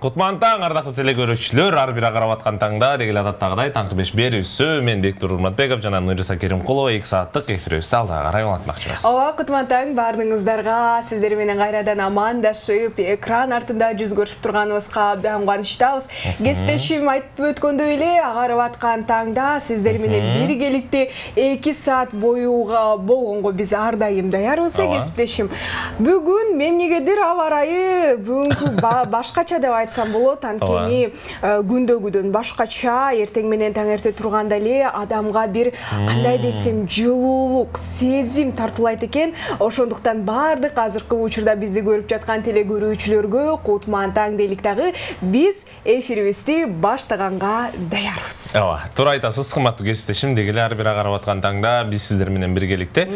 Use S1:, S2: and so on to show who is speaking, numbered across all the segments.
S1: Кутман таң, ардактуу телекөрүүчүлөр, ар бир карап аткан таңда дегеле адаттагыдай таңкы 5 берүүсү мен Бектур Урматбеков жана Нуриса Керимкулова 2 сааттык эфирибизди алдыга карай улантмакчыбыз.
S2: Ооба, Кутман таң баарыңыздарга сиздер менен кайрадан амандашып, экран артында жүз көрүшүп турганыбызга абдан кубанычтабыз. Кесиптешим айтып өткөндөй эле, агарып аткан таңда сиздер менен биргеликте 2 саат боюга болгонго биз ар дайым даярбыз, кесиптешим. Бүгүн мемнегедир аба ырайы бүгүнкү башкача деп айтсам болот, анткени күндөгүдөн башкача, эртең менен таңерте турганда эле адамга бир кандай десем жылуулук, сезим тартуулайт экен. Ошондуктан баардык азыркы учурда бизди көрүп жаткан телекөрүүчүлөргө Кутман таң дейлик дагы биз эфирибизди баштаганга даярбыз.
S1: Ооба, туура айтасыз, кымбаттуу кесиптешим, дегеле ар бир карап аткан таңда биз сиздер менен биргеликте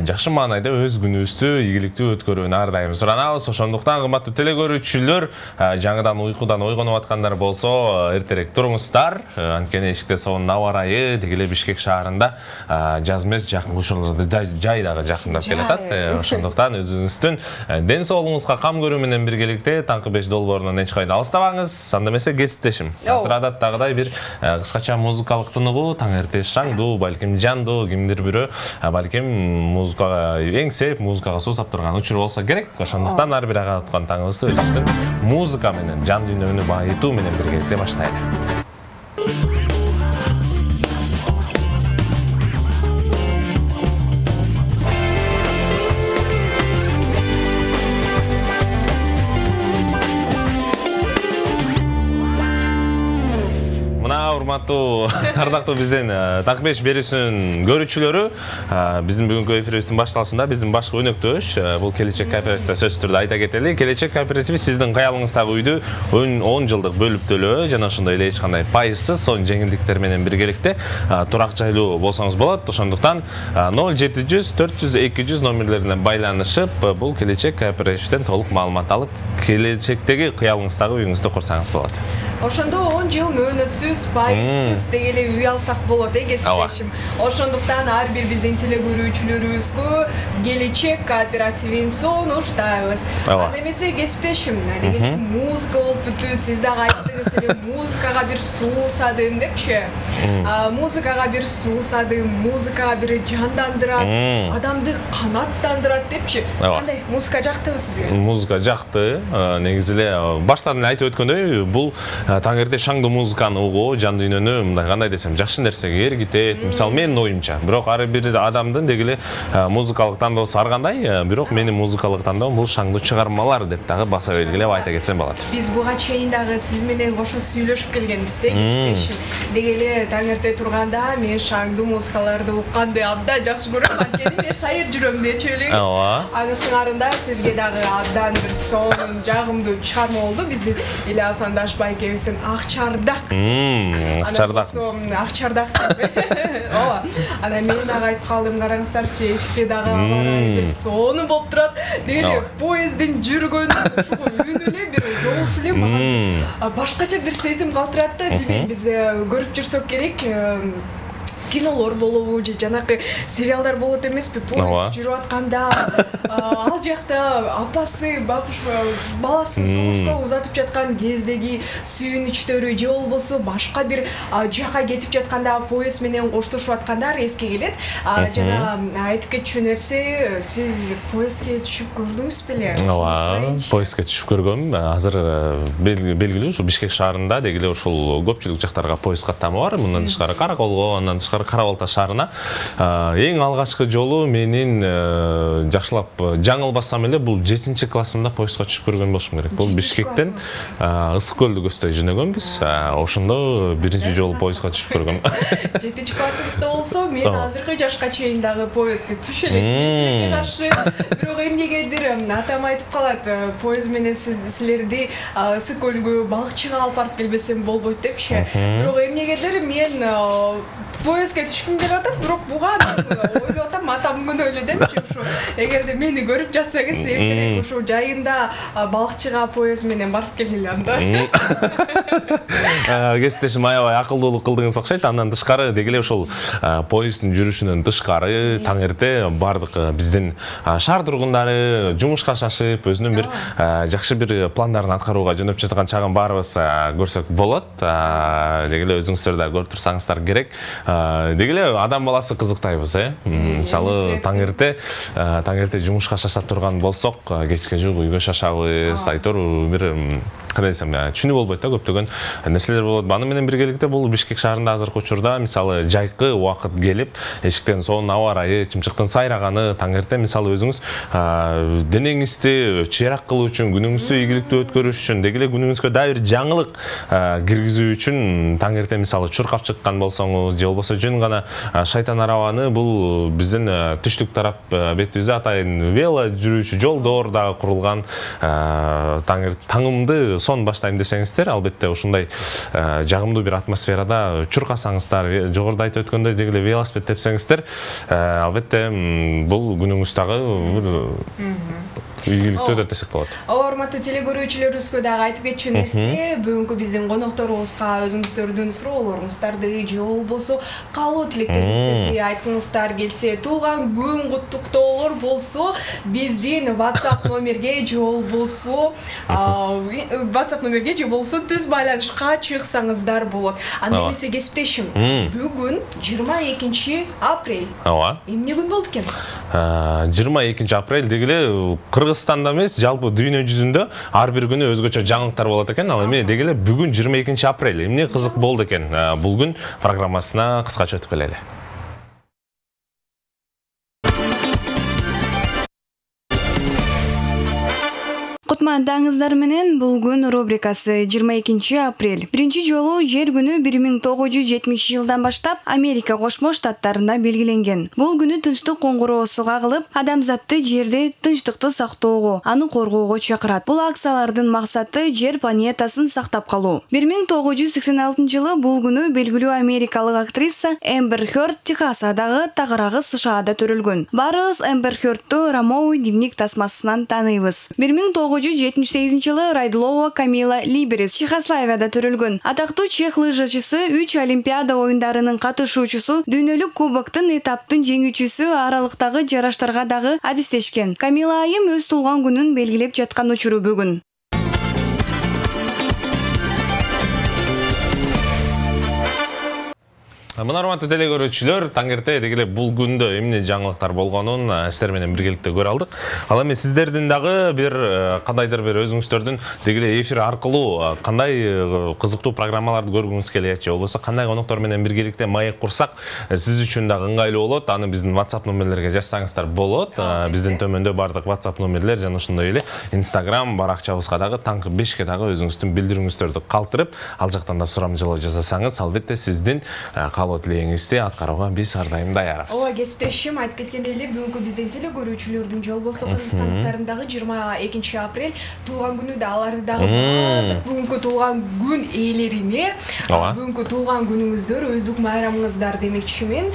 S1: жакшы маанайда өз күнүбүздү ийгиликтүү өткөрүүнү ар дайым суранабыз. Ошондуктан кымбаттуу телекөрүүчүлөр, жаңыдан уйкудан ойгонуп аткандар болсо, эртерээк туруңуздар. Анткени эшикте сонун аба ырайы дегеле Бишкек шаарында жаз эмес, жакын ушуларда жай дагы жакындап келатат. Ошондуктан өзүңүздүн ден соолугуңузга кам көрүү менен биргеликте таңкы 5 долбоорунан эч кайда алыстабаңыз. Анда эмесе кесиптешим. Азыр адаттагыдай бир кыскача музыкалык тыныгуу, таңерте шаңдуу, балким жандуу, кимдир бирөө балким музыкага эңсеп, музыкага суусап турган учур болсо керек. Ошондуктан ар бир карап аткан таңыбызды өзүбүздүн музыка менен, жан дүйнөнү байытуу менен биргеликте баштайлы. Урматтуу, ардактуу биздин таңкы 5 берүүсүнүн көрүүчүлөрү, биздин бүгүнкү эфирибиздин башталышында биздин башкы өнөктөш, бул Келечек кооперативде сөзсүз түрдө айта кетели. Келечек кооперативи сиздин каялыңыздагы үйдү 10 жылдык бөлүп төлөө жана ошондой эле эч кандай пайызсыз, сонун жеңилдиктер менен биргеликте турак жайлуу болсоңуз болот. Ошондуктан 0700 400 200 номерлерине байланышып, бул Келечек кооперативден толук маалымат алып, келечектеги кыялыңыздагы үйүңүздү курсаңыз болот.
S2: Ошондо 10 жыл мөөнөтсүз, пайызсыз дегеле үй алсак болот, кесиптешим. Ошондуктан ар бир биздин телекөрүүчүлөрүбүзгө Келечек кооперативин сунуштайбыз. Анда эмесе кесиптешим, дегеле музыка болуп бүттү, сиз дагы айттыңыз эле, музыкага бир суусадым депчи. Музыкага бир суусадым, музыкага бир жандандырат, адамды канаттандырат депчи. Кандай музыка жактыбы сизге?
S1: Музыка жакты. Негизи эле баштан эле айтып өткөндөй, бул таңерте шаңдуу музыканы угуу жан дүйнөнү мындай кандай десем жакшы нерсеге эргитет. Мисалы менин оюмча, бирок ар бир адамдын дегеле музыкалык тандоосу ар кандай, бирок менин музыкалык тандоом бул шаңдуу чыгармалар деп дагы баса белгилеп айта кетсем болот.
S2: Биз буга чейин дагы сиз менен кошо сүйлөшүп келгенбиз, кесиптешим. Дегеле таңерте турганда мен шаңдуу музыкаларды укканды абдан жакшы көрөм, анткени мен шайыр жүрөм дечү элеңиз. Анын сыңарында сизге дагы абдан бир сонун, жагымдуу чыгарма болду. Биздин Илья Сандашбай Ак чардак.
S1: Ак чардак.
S2: Ак чардак деп. Ооба. Анан мен дагы айтып калдым, караңыздарчы, эшикте дагы бир сонун болуп турат. Дегеле поездин жүргөнү ушул үнү эле бир жоош эле мага башкача бир сезим калтырат да. Билбейм, биз көрүп жүрсөк керек. Кинолор болобу же жанакы сериалдар болот эмеспи? Поезд жүрүп атканда ал жакта апасы баласын согушка узатып жаткан кездеги сүйүнүчтөрү же болбосо башка бир жака кетип жатканда поезд менен коштошуп аткандар эске келет. Жана айтып кетчү нерсе, сиз поездге түшүп көрдүңүз беле?
S1: Ооба, поездге түшүп көргөм. Азыр белгилүү ушул Бишкек шаарында дегеле ушул көпчүлүк жактарга поезд каттамы бар. Мындан тышкары Караколго, андан тышкары Кара-Балта шаарына эң алгачкы жолу менин жакшылап жаңылбасам эле бул 7-классымда поездга түшүп көргөн болушум керек. Бул Бишкектен Ысык көлдү көздөй жөнөгөнбүз. Ошондо биринчи жолу поездга түшүп көргөм.
S2: 7-классыңызда болсо, мен азыркы жашка чейин дагы поездге түшө элекмин каршы. Бирок эмнегедир атам айтып калат, поезд менен силерди Ысык көлгө балыкчыга алып барып келбесем болбойт депчи. Бирок эмнегедир мен поездге түшкүм келип атат, бирок буга ойлоп атам, атамдын күнү эле депчи ушу. Эгерде мени көрүп жатсаңыз, эртерээк ушу жайында балыкчыга поезд менен барып келели анда.
S1: Кесиптешим аябай акылдуулук кылдыңыз окшойт. Андан тышкары деги эле ошол поезддин жүрүшүнөн тышкары таң эрте бардык биздин шаар тургундары жумушка шашып, өзүнүн бир жакшы бир пландарын аткарууга жөнөп жаткан чагын баарыбыз көрсөк болот. Деги эле өзүңүздөр да көрүп турсаңыздар керек. Деги эле адам баласы кызыктайбыз, мисалы таң эрте жумушка шашап турган болсок, кечке жук үйгө шашабыз. Айтор бир кандай десем, түшүнүү болбойт да, көптөгөн нерселер болот. Аны менен биргеликте бул Бишкек шаарында азыркы учурда мисалы жайкы убакыт келип, эшиктен сонун аба ырайы, чымчыктын сайраганы таң эрте мисалы өзүңүз денеңизди чыйрак кылуу үчүн, күнүңүздү ийгиликтүү өткөрүш үчүн, деги эле күнүңүзгө дагы бир жаңылык киргизүү үчүн таң эрте мисалы чуркап чыккан болсоңуз, же болбосо жөн гана шайтан арабаны бул биздин түштүк тарап бетибизде атайын вело жүрүүчү жолдор дагы курулган. Таңымды сон баштайм десеңиздер, албетте ушундай жагымдуу бир атмосферада чуркасаңыздар, жогоруда айтып өткөндөй деги эле велосипед тепсеңиздер, албетте бул күнүңүз дагы ийгиликтүү өтөт десек болот.
S2: Урматтуу теле көрүүчүлөрүбүзгө дагы айтып кетчү нерсе, бүгүнкү биздин конокторубузга өзүңүздөрдүн суроолоруңуздарды же болбосо каалоо тилектериңиздерди айткыңыздар келсе, туулган күн куттуктоолор болсо, биздин WhatsApp номерге же болбосо түз байланышка чыксаңыздар болот. Анда эмесе кесиптешим, бүгүн 22 апрель. Эмне күн болду экен?
S1: 22 апрель деги эле Кыргызстанда эмес, жалпы дүйнө жүзүндө ар бир күнү өзгөчө жаңылыктар болот экен. Ал эми деги эле бүгүн 22 апрель. Эмне кызык болду экен? Бул күн программасына кыскача өтүп келели.
S3: Кутмандаңыздар менен бул күн рубрикасы 22 апрель. Биринчи жолу жер күнү 1970 жылдан баштап Америка Кошмо Штаттарында белгиленген. Бул күнү тынчтык коңгуроосу кагылып, адамзатты жерде тынчтыкты сактоого, аны коргоого чакырат. Бул акциялардын максаты жер планетасын сактап калуу. 1986 жылы бул күнү белгилүү америкалык актриса Эмбер Хёрд Техасадагы тагырагы СШАда төрөлгөн. Барыбыз Эмбер Хёрдту Ромео дневник тасмасынан тааныйбыз. 1978 жылы Райдулова Камила Либерис Чехословакияда төрөлгөн. Атактуу чех лыжачысы 3 Олимпиада оюндарынын катышуучусу, дүйнөлүк кубоктун этаптын жеңүүчүсү аралыктагы жараштарга дагы адистешкен. Камила айым өз туулган күнүн белгилеп жаткан учуру бүгүн.
S1: Мына урматтуу теле көрүүчүлөр, таң эрте деги эле бул күндө эмне жаңылыктар болгонун сиздер менен биргеликте көрө алдык. Ал эми сиздердин дагы бир кандайдыр бир өзүңүздөрдүн деги эле эфир аркылуу кандай кызыктуу программаларды көргүңүз келет, же болбосо кандай коноктор менен биргеликте маек курсак сиз үчүн дагы ыңгайлуу болот. Аны биздин WhatsApp номерлерге жазсаңыздар болот. Биздин төмөндө бардык WhatsApp номерлер жана ошондой эле Instagram баракчабызга дагы таңкы 5ке дагы өзүңүздүн билдирүүңүздөрдү калтырып, ал жактан да сурамжылоо жасасаңыз, албетте сиздин тилегиңизди аткарууга биз ар дайым даярбыз.
S2: Ооба, кесиптешим айтып кеткендей эле бүгүнкү биздин теле көрүүчүлөрдүн же болбосо кыргызстандыктардын 22 апрель туулган күнү да аларды дагы бүгүнкү туулган күн ээлерине бүгүнкү туулган күнүңүздөр өздүк майрамыңыздар демекчимин.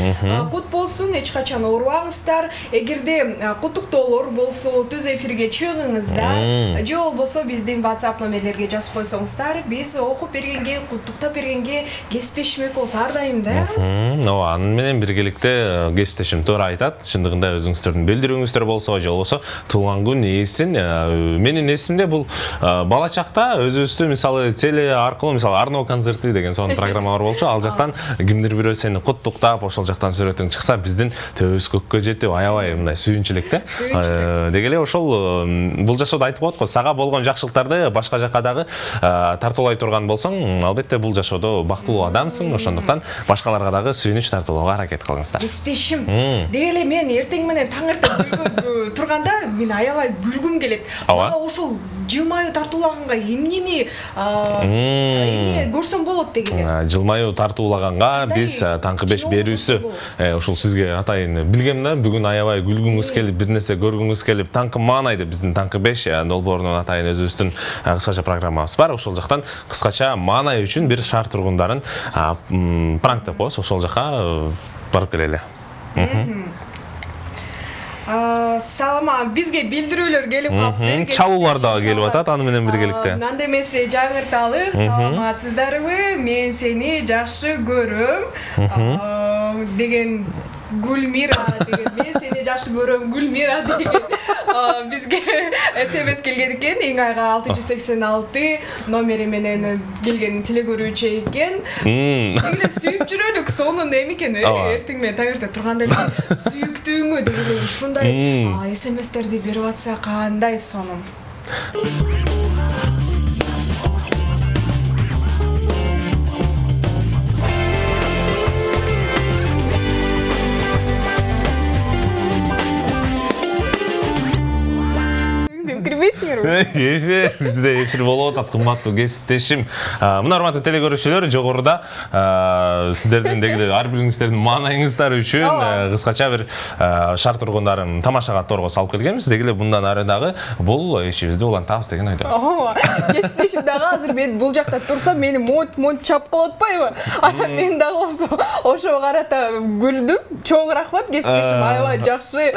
S2: Кут болсун, эч качан оорубаңыздар. Эгерде куттуктоолор болсо, түз эфирге чыгыңыздар. Же болбосо биздин WhatsApp номерлерге жазып койсоңуздар, биз окуп бергенге, куттуктап бергенге кесиптешмек болсо ар дайым да.
S1: Ооба, аны менен биргеликте кесиптешим туура айтат. Чындыгында өзүңүздөрдүн билдирүүңүздөр болсо, же болбосо туулган күн ээсин. Менин эсимде бул бала чакта өзүбүздү мисалы теле аркылуу мисалы Арно концерти деген сонун программа бар болчу. Ал жактан кимдир бирөө сени куттуктап, ошол жактан сүрөтүң чыкса, биздин төбүбүз көккө жетип, аябай мындай сүйүнчүлүк да. Деги эле ошол бул жашоодо айтып коет го, сага болгон жакшылыктарды башка жакка дагы тартуулай турган болсоң, албетте бул жашоодо бактылуу адамсың. Ошондуктан башкаларга дагы сүйүнүч тартуулоого аракет кылыңыздар.
S2: Кесиптешим, деги эле мен эртең менен таң эрте турганда мен аябай күлгүм келет. Мага ушул жылмаюу тартуулаганга эмнени көрсөм болот деген эле.
S1: Жылмаюу тартуулаганга биз таңкы 5 берүүсү ушул сизге атайын билгем да, бүгүн аябай күлгүңүз келип, бир нерсе көргүңүз келип, таңкы маанайды биздин таңкы 5 долбоорунун атайын өзүбүздүн кыскача программабыз бар. Ошол жактан кыскача маанай үчүн бир шаар тургундарын пранк деп коебуз. Ошол жака барып келели.
S2: Салама, бизге билдирүүлөр келип калыптыр.
S1: Чалуулар дагы келип атат аны менен биргеликте.
S2: Анда эмесе жаңырталы, саламатсыздарбы? Мен сени жакшы көрөм деген Гүлмира деген, мен сени жакшы көрөм Гүлмира деген бизге СМС келген экен. Эң айга 686 номери менен келген телегөрүүчү экен. Эле сүйүп жүрөлүк, сонун эме экен, эртең менен таңертең турганда эле сүйүктүүңү деген ушундай СМСтерди берип атса кандай сонун.
S1: Бизде эфир болуп атат, кымбаттуу кесиптешим. Мына урматтуу телекөрүүчүлөр, жогоруда сиздердин дегеле ар бириңиздердин маанайыңыздар үчүн кыскача бир шаар тургундарын тамашага торго салып келгенбиз. Дегеле мындан ары дагы бул ишибизди улантабыз деген ойдобуз.
S2: Кесиптешим дагы азыр мен бул жакта турсам мени монт чап кылып атпайбы? Мен дагы болсо ошого карата күлдүм. Чоң рахмат кесиптешим, аябай жакшы.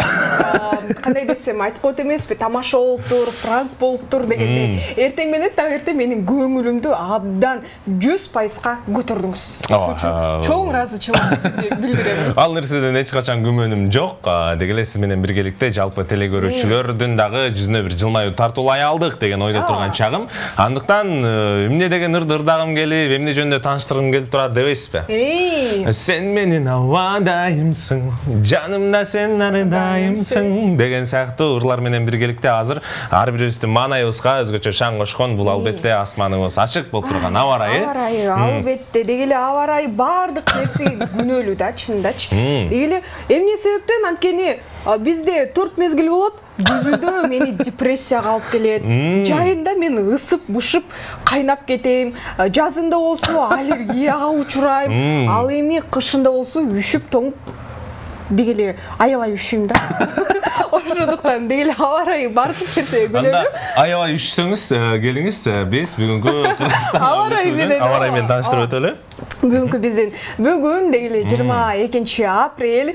S2: Кандай десем айтып коет эмеспи? Тамаша болуптур, пранк болуптур дегенде. Эртең менен таңертең менин көңүлүмдү абдан 100%га көтөрдүңүз. Ошон үчүн чоң ыраазычылык сизге билдирем.
S1: Ал нерседен эч качан күмөнүм жок. Дегеле сиз менен биргеликте жалпы телекөрүүчүлөрдүн дагы жүзүнө бир жылмаюу тартуулай алдык деген ойдо турган чагым. Андыктан эмне деген ырдагым келип, эмне жөнүндө тааныштыргым келип турат дебейсизби? Сен менин абадайымсың, жанымда сен ардайымсың деген сыяктуу ырлар менен биргеликте азыр ар бирибиздин маанайыбызга өзгөчө шаң кошкон бул албетте асманыбыз ачык болуп турган аба ырайы.
S2: Аба ырайы албетте, дегеле аба ырайы баардык нерсеге күнөөлүү да, чындачы. Дегеле эмне себептен анткени бизде 4 мезгил болот. Жүзүдө мени депрессияга алып келет. Жайында мен ысып-бышып кайнап кетем. Жазында болсо аллергияга учурайм. Ал эми кышында болсо үшүп тоңуп дегеле аябай üşüйм да. Ошондуктан дегеле аба ырайы бардык нерсеге күнөөлүү.
S1: Аябай üşүсөңүз келиңиз, биз бүгүнкү
S2: аба ырайы
S1: менен тааныштырып өтөлү.
S2: Бүгүнкү биздин бүгүн дегеле 22 апрель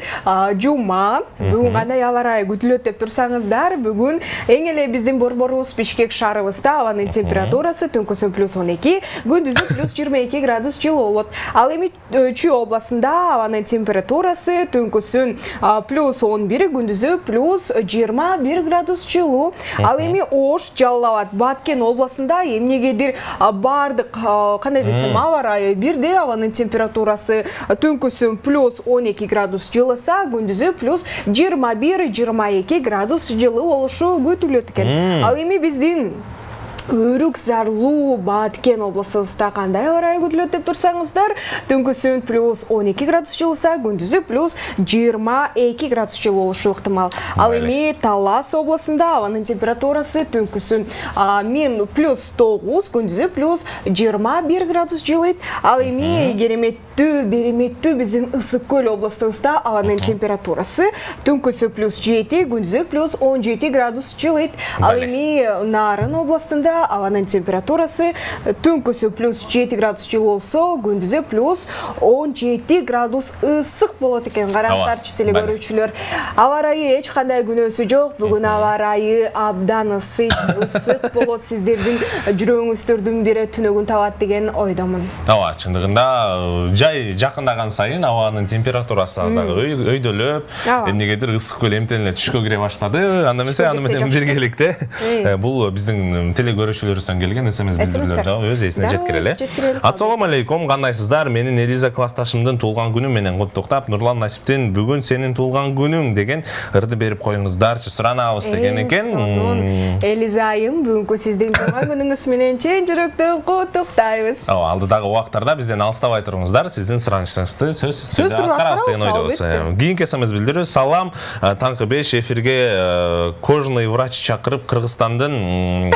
S2: жума. Бүгүн кандай аба ырайы күтүлөт деп турсаңыздар, бүгүн эң эле биздин борборубуз Бишкек шаарыбызда абанын температурасы түнкүсү +12, күндүзү +22 градус жылуу болот. Ал эми Чүй областында абанын температурасы түнкүсүн +11, күндүзү +21 градус жылуу. Ал эми Ош, Жалал Абад, Баткен областында эмнегедир бардык кандай десем аба ырайы бирдей. Абанын температурасы түнкүсүн +12 градус жылыса, күндүзү +21-22 градус жылуу болушу күтүлөт экен. Ал эми биздин Өрүк Зарлуу Баткен областыбызда кандай аба ырайы күтүлөт деп турсаңыздар, түнкүсүн +12 градус жылыса, күндүзү +22 градус жылуу болушу ыктымал. Ал эми Талас областында абанын температурасы түнкүсүн -9, күндүзү +21 градус жылыйт. Ал эми береметтүү биздин Ысык Көл областыбызда абанын температурасы түнкүсү +7, күндүзү +17 градус жылыйт. Ал эми Нарын областында абанын температурасы түнкүсү +7 градус жылуу болсо, күндүзү +17 градус ысык болот экен. Караңыздарчы телекөрүүчүлөр, аба ырайы эч кандай күнөөсү жок. Бүгүн аба ырайы абдан ысык болот. Сиздердин жүрөгүңүздөрдүн бири түнөгүн табат деген ойдомун.
S1: Ооба, чындыгында жай жакындаган сайын абанын температурасы дагы өйдөлөп, эмнегедир Ысык Көл эмтен эле түшкө кире баштады. Анда эмесе аны менен биргеликте бул биздин көрүүчүлөрүбүздөн келген SMS билдирүүлөр жагы өз эсине жеткире эле. Ассалому алейкум, кандайсыздар? Менин Элиза классташымдын туулган күнү менен куттуктап, Нурлан Насиптин бүгүн сенин туулган күнүң деген ырды берип коюңуздарчы суранабыз деген экен.
S2: Элиза айым, бүгүнкү сиздин туулган күнүңүз менен чын жүрөктөн куттуктайбыз.
S1: Алдыдагы убактарда бизден алыстабай туруңуздар, сиздин суранышыңызды сөзсүз аткарабыз деген ойдобуз. Кийинки SMS билдирүү: салам, таңкы 5 эфирге кожный врач чакырып, Кыргызстандын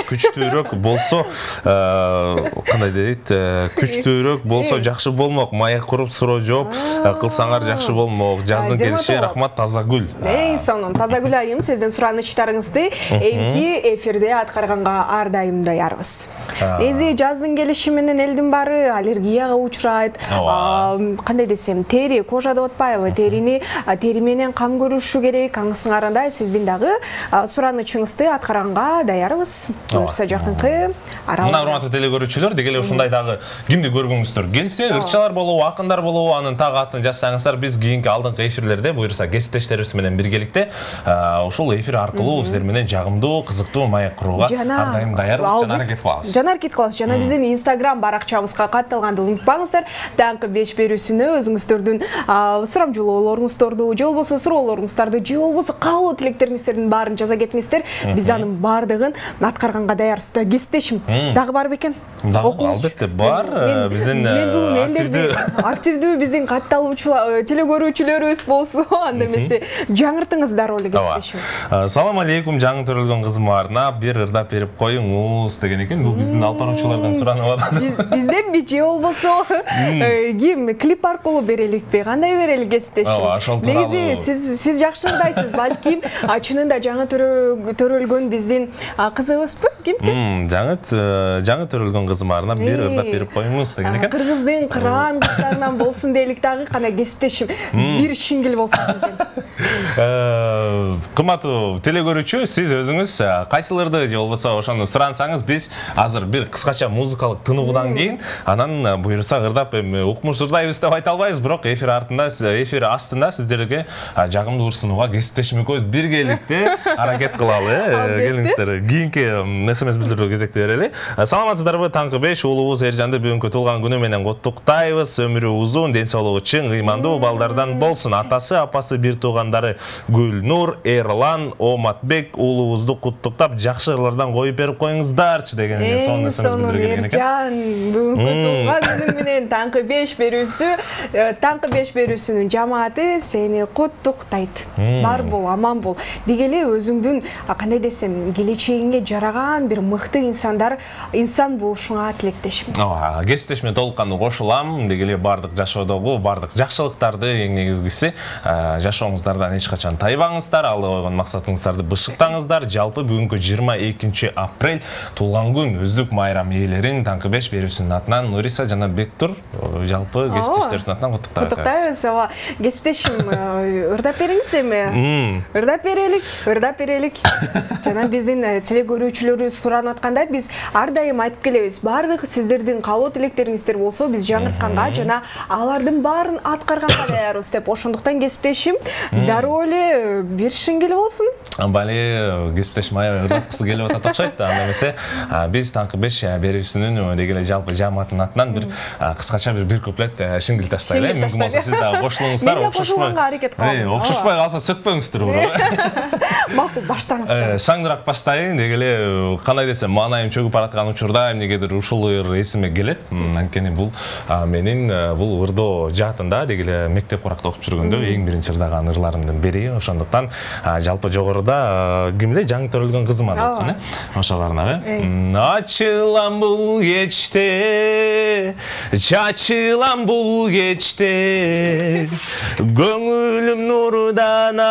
S1: күчтүүрөөк болсо, кандай дейт, күчтүүрөөк болсо жакшы болмок, маек куруп суроо жооп кылсаңар жакшы болмок. Жаздын келиши, рахмат, Тазагүл.
S2: Сонун, Тазагүл айым, сиздин суранычтарыңызды эмки эфирде аткарганга ар дайым даярбыз. Эзи жаздын келиши менен элдин баары аллергияга учурайт. Кандай десем, тери, кожа деп атпайбы, тери менен кам көрүшү керек. Аңсыңарында сиздин дагы суранычыңызды аткарганга даярбыз. Буюрса жакынкы аралыкта.
S1: Мына урматтуу телекөрүүчүлөр, дегеле ушундай дагы кимди көргүңүздөр келсе, ырчалар болобу, акындар болобу, анын так атын жазсаңыздар, биз кийинки алдыңкы эфирлерде буюрса кесиптештерибиз менен биргеликте ушул эфир аркылуу сиздер менен жагымдуу, кызыктуу маек курууга ар дайым даярбыз, жана аракет кылабыз.
S2: Жана биздин Instagram баракчабызга катталганды унутпаңыздар. Таңкы 5 берүүсүнө өзүңүздөрдүн сурамжылоолоруңуздарды, же болбосо суроолоруңуздарды, же болбосо каалоо тилектериңиздердин баарын жаза кетиңиздер. Биз анын баардыгын аткарганга даярбыз. Кесиптешим дагы барбы экен?
S1: Албетте бар. Биздин
S2: активдүү биздин катталуучулар, телекөрүүчүлөрүбүз болсо, анда эмесе жаңыртыңыздар эле кесиптешим.
S1: Салам алейкум, жаңы төрөлгөн кызыма арнап бир ырдап берип коюңуз деген экен. Бул биздин алып баруучулардан суранып атат.
S2: Бизденби же болбосо ким клип аркылуу береликпи? Кандай берели кесиптешим? Негизи сиз жакшы ырдайсыз, балким чынында жаңы төрөлгөн биздин кызыбызбы? Ким?
S1: Жаңы төрөлгөн кызыма арнап бир ырдап берип коюңуз деген экен.
S2: Кыргыздын кыран кыздарынан болсун дейлик дагы, кандай кесиптешим бир шингил болсун сизден.
S1: Кымбаттуу телекөрүүчү, сиз өзүңүз кайсыларды же болбосо ошону сурансаңыз, биз азыр бир кыскача музыкалык тыныгуудан кийин анан буюрса ырдап укмуш ырдайбыз деп айта албайбыз, бирок эфир астында сиздерге жагымдуу ырсынууга кесиптешим экөөбүз биргеликте аракет кылалы. Келиңиздер, кийинки SMS билдирүү кезекти берели. Саламатсыздарбы, таңкы 5 уулубуз Эржанды бүгүнкү туулган күнү менен куттуктайбыз. Өмүрү узун, ден соолугу чың, ыймандуу балдардан болсун. Атасы, апасы, бир туугандары Гүлнур, Эрлан, Оматбек уулубузду куттуктап, жакшы ырлардан коюп берип коюңуздарчы деген экен. Сонун SMS билдирген экен.
S2: Эржан, бүгүнкү туулган күнүң менен таңкы 5 берүүсүнүн жамааты сени куттуктайт. Бар бол, аман бол. Дегеле өзүңдүн кандай десем, келечегиңе жараган бир мыкты инсан болушуңа тилектешим.
S1: Кесиптешиме толук кандуу кошулам. Дегеле бардык жашоодогу бардык жакшылыктарды, эң негизгиси жашооңуздардан эч качан тайбаңыздар, алда койгон максатыңыздарды бышыктаңыздар. Жалпы бүгүнкү 22 апрель туулган күн өздүк майрам ээлерин таңкы 5 берүүсүнүн атынан Нуриса жана Бектур жалпы кесиптештерибиздин атынан
S2: куттуктайбыз. Кесиптешим ырдап бериңиз эми. Ырдап берелик. Жана биздин телекөрүүчүлөрүбүз суранып атканда, биз ар дайым айтып келебиз. Бардык сиздердин каалоо тилектериңиздер болсо, биз жаңыртканга жана алардын баарын аткарганга даярбыз деп. Ошондуктан кесиптешим дароо эле бир шингил болсун.
S1: Бали кесиптешим ырдаткысы келип атат окшойт. Анда эмесе биз таңкы 5 берүүсүнүн дегеле жалпы жамааттын атынан бир кыскача бир куплет шингил таштайлы. Мүмкүн болсо сиз дагы кошулуңуздар. Окшошпой калса сөкпөңүздөр.
S2: Макул, баштаңыздар.
S1: Саңдыраак баштайын дегеле, кандай десем, маанайым чөгүп бараткан учурда эмнегедир ушул ыр эсиме келет. Анткени бул менин бул ырдоо жаатында дегеле мектеп куракта окуп жүргөндө эң биринчи ырдаган ырларымдын бири. Ошондуктан жалпы жогоруда кимде жаңы төрөлгөн кызыма деп аткан, ошолоруна. Ачылам бул кечте, чачылам бул кечте, көңүлүм нурданат,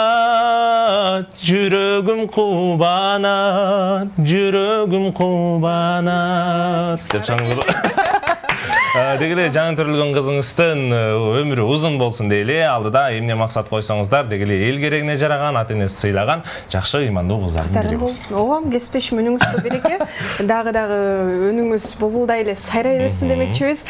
S1: жүрөгүм кубанат, жүрөгүм кубанат деп шаңдырып Дегеле жаңы төрөлгөн кызыңыздын өмүрү узун болсун дейли. Алдыда эмне максат койсоңуздар, дегеле эл керегине жараган, ата энеси сыйлаган жакшы ыймандуу кыздардын бири болсун.
S2: Ооба, кесиптешим өнүңүз береке. Дагы өнүңүз булбулдай эле сайрай берсин демекчибиз.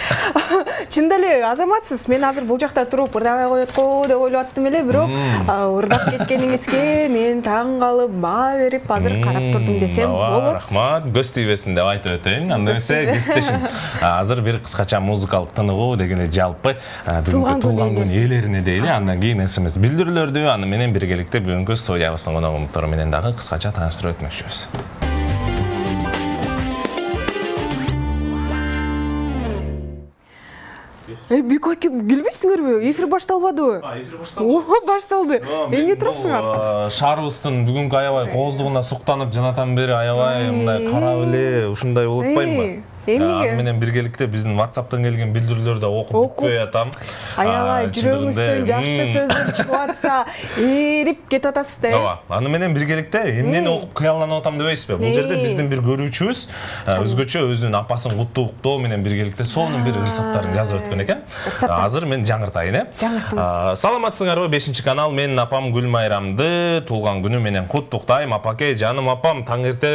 S2: Чында эле азаматсыз. Мен азыр бул жакта туруп ырдабай коет го деп ойлоп аттым эле, бирок ырдап кеткениңизге мен таң калып, баа берип азыр карап турдум десем болот.
S1: Рахмат. Көз тийбесин деп айтып өтөйүн. Анда эмесе кесиптешим. Азыр бир кыскача музыкалык тыныгуу дегенде жалпы бүгүнкү туулган күн ээлерине дейли. Андан кийин СМС билдирүүлөрдү аны менен биргеликте бүгүнкү студиябыздын коногу менен дагы кыскача тааныштырып өтмөкчүбүз.
S2: Бек аке, келбейсиңерби? Эфир башталбадыбы?
S1: Эфир башталды.
S2: Ооба, башталды. Эмне турасыңар?
S1: Шаарыбыздын бүгүнкү аябай кооздугуна суктанып, жанатан бери аябай мындай карап эле ушундай болуп атпайбы? Аны менен биргеликте биздин WhatsApp'тан келген билдирүүлөрдү окуп бүткөй атам.
S2: Аябай жүрөгүңүздөн жакшы сөздөр чыгып атса, эрип кетип атасыз да.
S1: Ооба, аны менен биргеликте эмнени окуп кыялланып атам дебейсизби? Бул жерде биздин бир көрүүчүбүз өзгөчө өзүнүн апасын куттуктоо менен биргеликте сонун бир ырсаптарын жазып өткөн экен. Азыр мен жаңыртайын,
S2: Жаңыртыңыз.
S1: Саламатсыңарбы? 5-канал. Менин апам Гүлмайрамды туулган күнү менен куттуктайм. Апаке, жаным апам, таң эрте